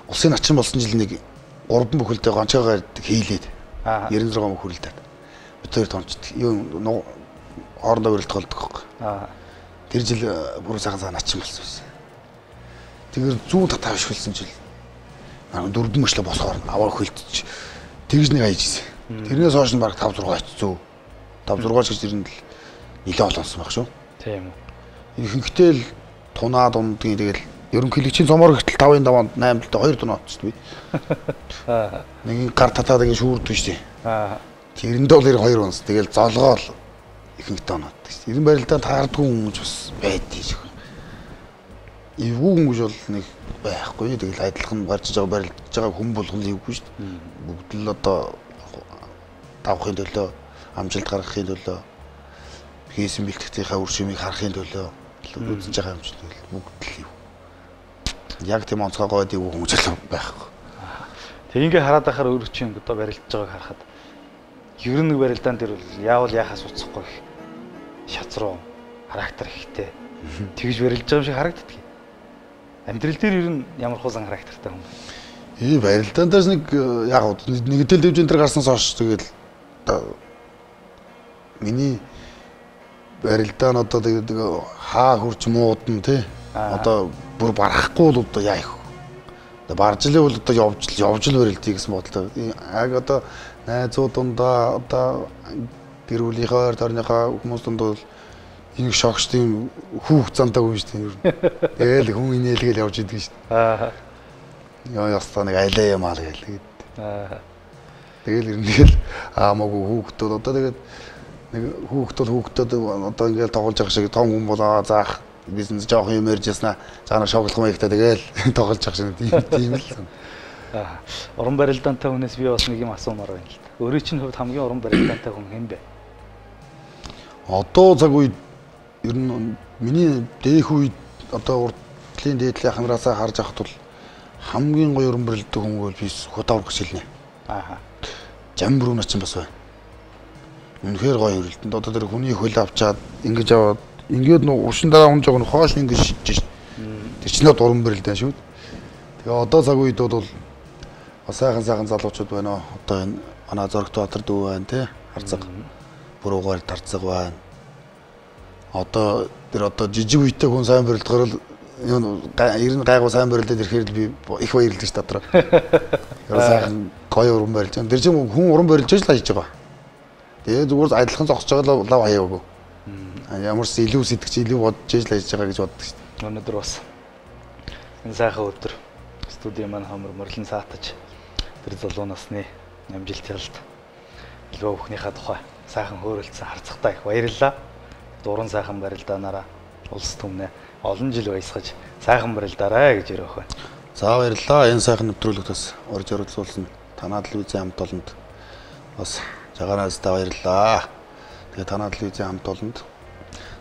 улсын начин болсон жил нэг 3 бүхэлдээ гончоогоор хийлээд 96 мөнх хүрэлдээд. Бид хоёр томчд. Юу хоорондоо барилдах болдог байхгүй. Тэр жил бүрэн сайхан цаа начин болсон байсан. Тэгэхээр зүүн татаа бишгэлсэн жил. Дөрвөн мөчлө босгоор аваа хөлтөж тэгж нэг хайжсэн. Тэрнээс хойш нь баг 5 6 очсон. 5 6 гэж ирэн л нилээ олонсон баг шүү. Тийм үү. Ихэнхдээ л тунаа дундгийн тэгэл ерөнхийлөгчийн цомоор гэтэл 5-ын даваанд 8 л 2 тунаа очсон би. Нэг гар татаад ингэ шүүрдэг шүү. Тэрэндээ бол 2 унс. Тэгэл золгоол ихэнхдээ оноод. Ирэн барилдаанд таардгүй хүн ч бас байдгийг шүү. Эвгүй хүн гэж бол нэг байхгүй. Тэгэл адилхан барьж байгаа барилдаж байгаа хүн болгон л эвгүй шүү. Бүгд л одоо давхын төлөө амжилт гаргахын төлөө хийсэн бэлтгэцийнхаа үр шимийг харахын төлөө үзэж байгаа юм шиг бүгд л юу. Яг тийм онцгой гойд юу хүмүүс л байхгүй. Тэг ингээ хараад байхаар өөрөө чинь одоо барилдаж байгааг харахад ер нь барилдаан дээр бол яавал яхаас уцахгүй шац руу характер ихтэй. Тэгж барилдаж байгаа юм шиг харагддаг. Амьдрал дээр ер нь ямар хуусан характертай хүн бэ? Барилдаандаас нэг яг нэг тэл дэвжин дээр гарснаас хойш тэгэл миний барилдаа нь одоо тэгээд хаа хурч муудна тий. Одоо бүр барахгүй л одоо яа их. Одоо барж лээ бол одоо явж л барилдъя гэсэн бодлоо. Яг одоо найзууд дундаа одоо гэр бүлийнхээ тойрныхоо хүмүүс дундаа бол энэ шогч тийм хүүх цантаа хүн шүү дээ. Тэгэл хүн инээлгээл явж идэг шүү дээ. Яа ястаа нэг айлаа юм аа гээл. Тэгэл ирнээл аамаагүй хүүхдүүд одоо тэгээд нэг хүүхдүүд одоо ингээл тоглож байгаа шиг том хүн болоо заах бизнес жоох юм ярьж яснаа цаана шоглох маягтай тэгэл тоглож байгаа шиг тийм л. Уран барилдаантай хүнээс би бас нэг юм асуумаар байна л та. Өөрөө чинь хувьд хамгийн уран барилдаантай хүн хэн бэ? Одоо цаг үед ер нь миний дээх үед одоо уртлын дээдлийн хамраасаа харж ахад бол хамгийн гоё уран барилдаантай хүн бол би худавар гэж хэлнэ. Жамбруу начин бас байна. Үнэхээр гоё өрөлдөнд одоо тэр хүний хөл авчаад ингэж аваад ингээд нөө ушин дараа хүн жоо хоош ингэж шидэж шít. Тэр чинь уран барилдаан шүү. Тэгээ одоо цаг үед бол сайхан залуучууд байна. Одоо энэ манай Зоригт Баатар дүү байна тий. Харцаг. Бүруугаар тарцаг байна. Одоо тэр одоо жижиг үйтэй хүн сайн барилдахаар л ер нь гайгүй сайн барилдаад ирэхээр би их баярлаж татраа. Тэр сайхан гоё уран барилж байгаа. Тэр чинь хүн уран барилж л хийж байгаа. Тэгээ зүгээр адилхан зогсож байгаа лав хаяагүй. Ямар ч илүү сэтгэж илүү бодож ижил хийж байгаа гэж боддог шүү дээ. Өнөөдөр бас энэ сайхан өдөр студийн маань хамар мөрлөн саатаж тэр залуу насны амжилт ялалт илүү бүхнийхээ тухай сайхан хөөрөлдсөн харцагтай их баярлалаа. Дуран сайхан барилдаанаараа улс түмнээ олон жил баясгаж сайхан барилдаарай гэж ярих байна. За баярлалаа. Энэ сайхан нэвтрүүлэгт бас орж оролцуулсан танаа телевизийн хамт олонд бас жагараас та баярлалаа. Тэгээ танаа телевизийн хамт олонд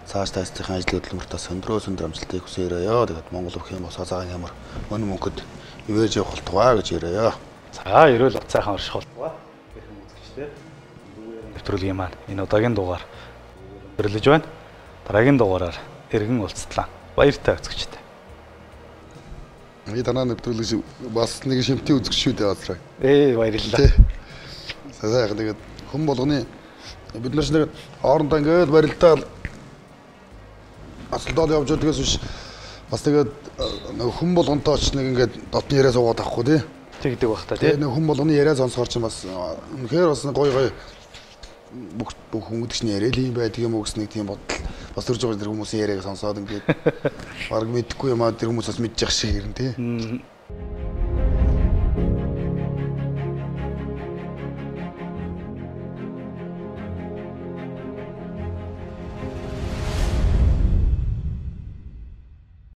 цааш тайцсан ажлын хөдөлмөртөө өндөр амжилтыг хүсээрээ. Тэгээд Монгол өх юм босоо цагаан ямар өн мөнгөд ивэж явах болтугай гэж ярээ. За ерөөл цайхан орших болтугай. Хэрхэн үзэгчтэй. Нэвтрүүлгийн маань энэ удаагийн дугаар өрлөж байна. Дараагийн дугаараар эргэн уулзтлаа. Баяртай үзэгчтэй. Би танаа нэвтрүүлэг бас нэг шимтгий үзэгч шүү дээ Азраа. Баярлалаа. Сайхан тэгээд хүн болгоны бид нар ч нэг хоорондоо ингээд барилдаал асуултад явж байдгаас биш бас тэгээд нэг хүн болгонтой ч нэг ингээд дотны яриа суугаад авахгүй тий. Тэгдэг бах та тий. Нэг хүн болгоны яриа сонсохоор ч бас үнэхээр бас гоё бүх хүмүүдчний яриа л юм байдаг юм уу гэсэн нэг тийм бодол бас төрж байгаа тэр хүмүүсийн яриаг сонсоод ингээд баг мэдхгүй юм аа тэр хүмүүс бас мэдчих шиг ирэн тий.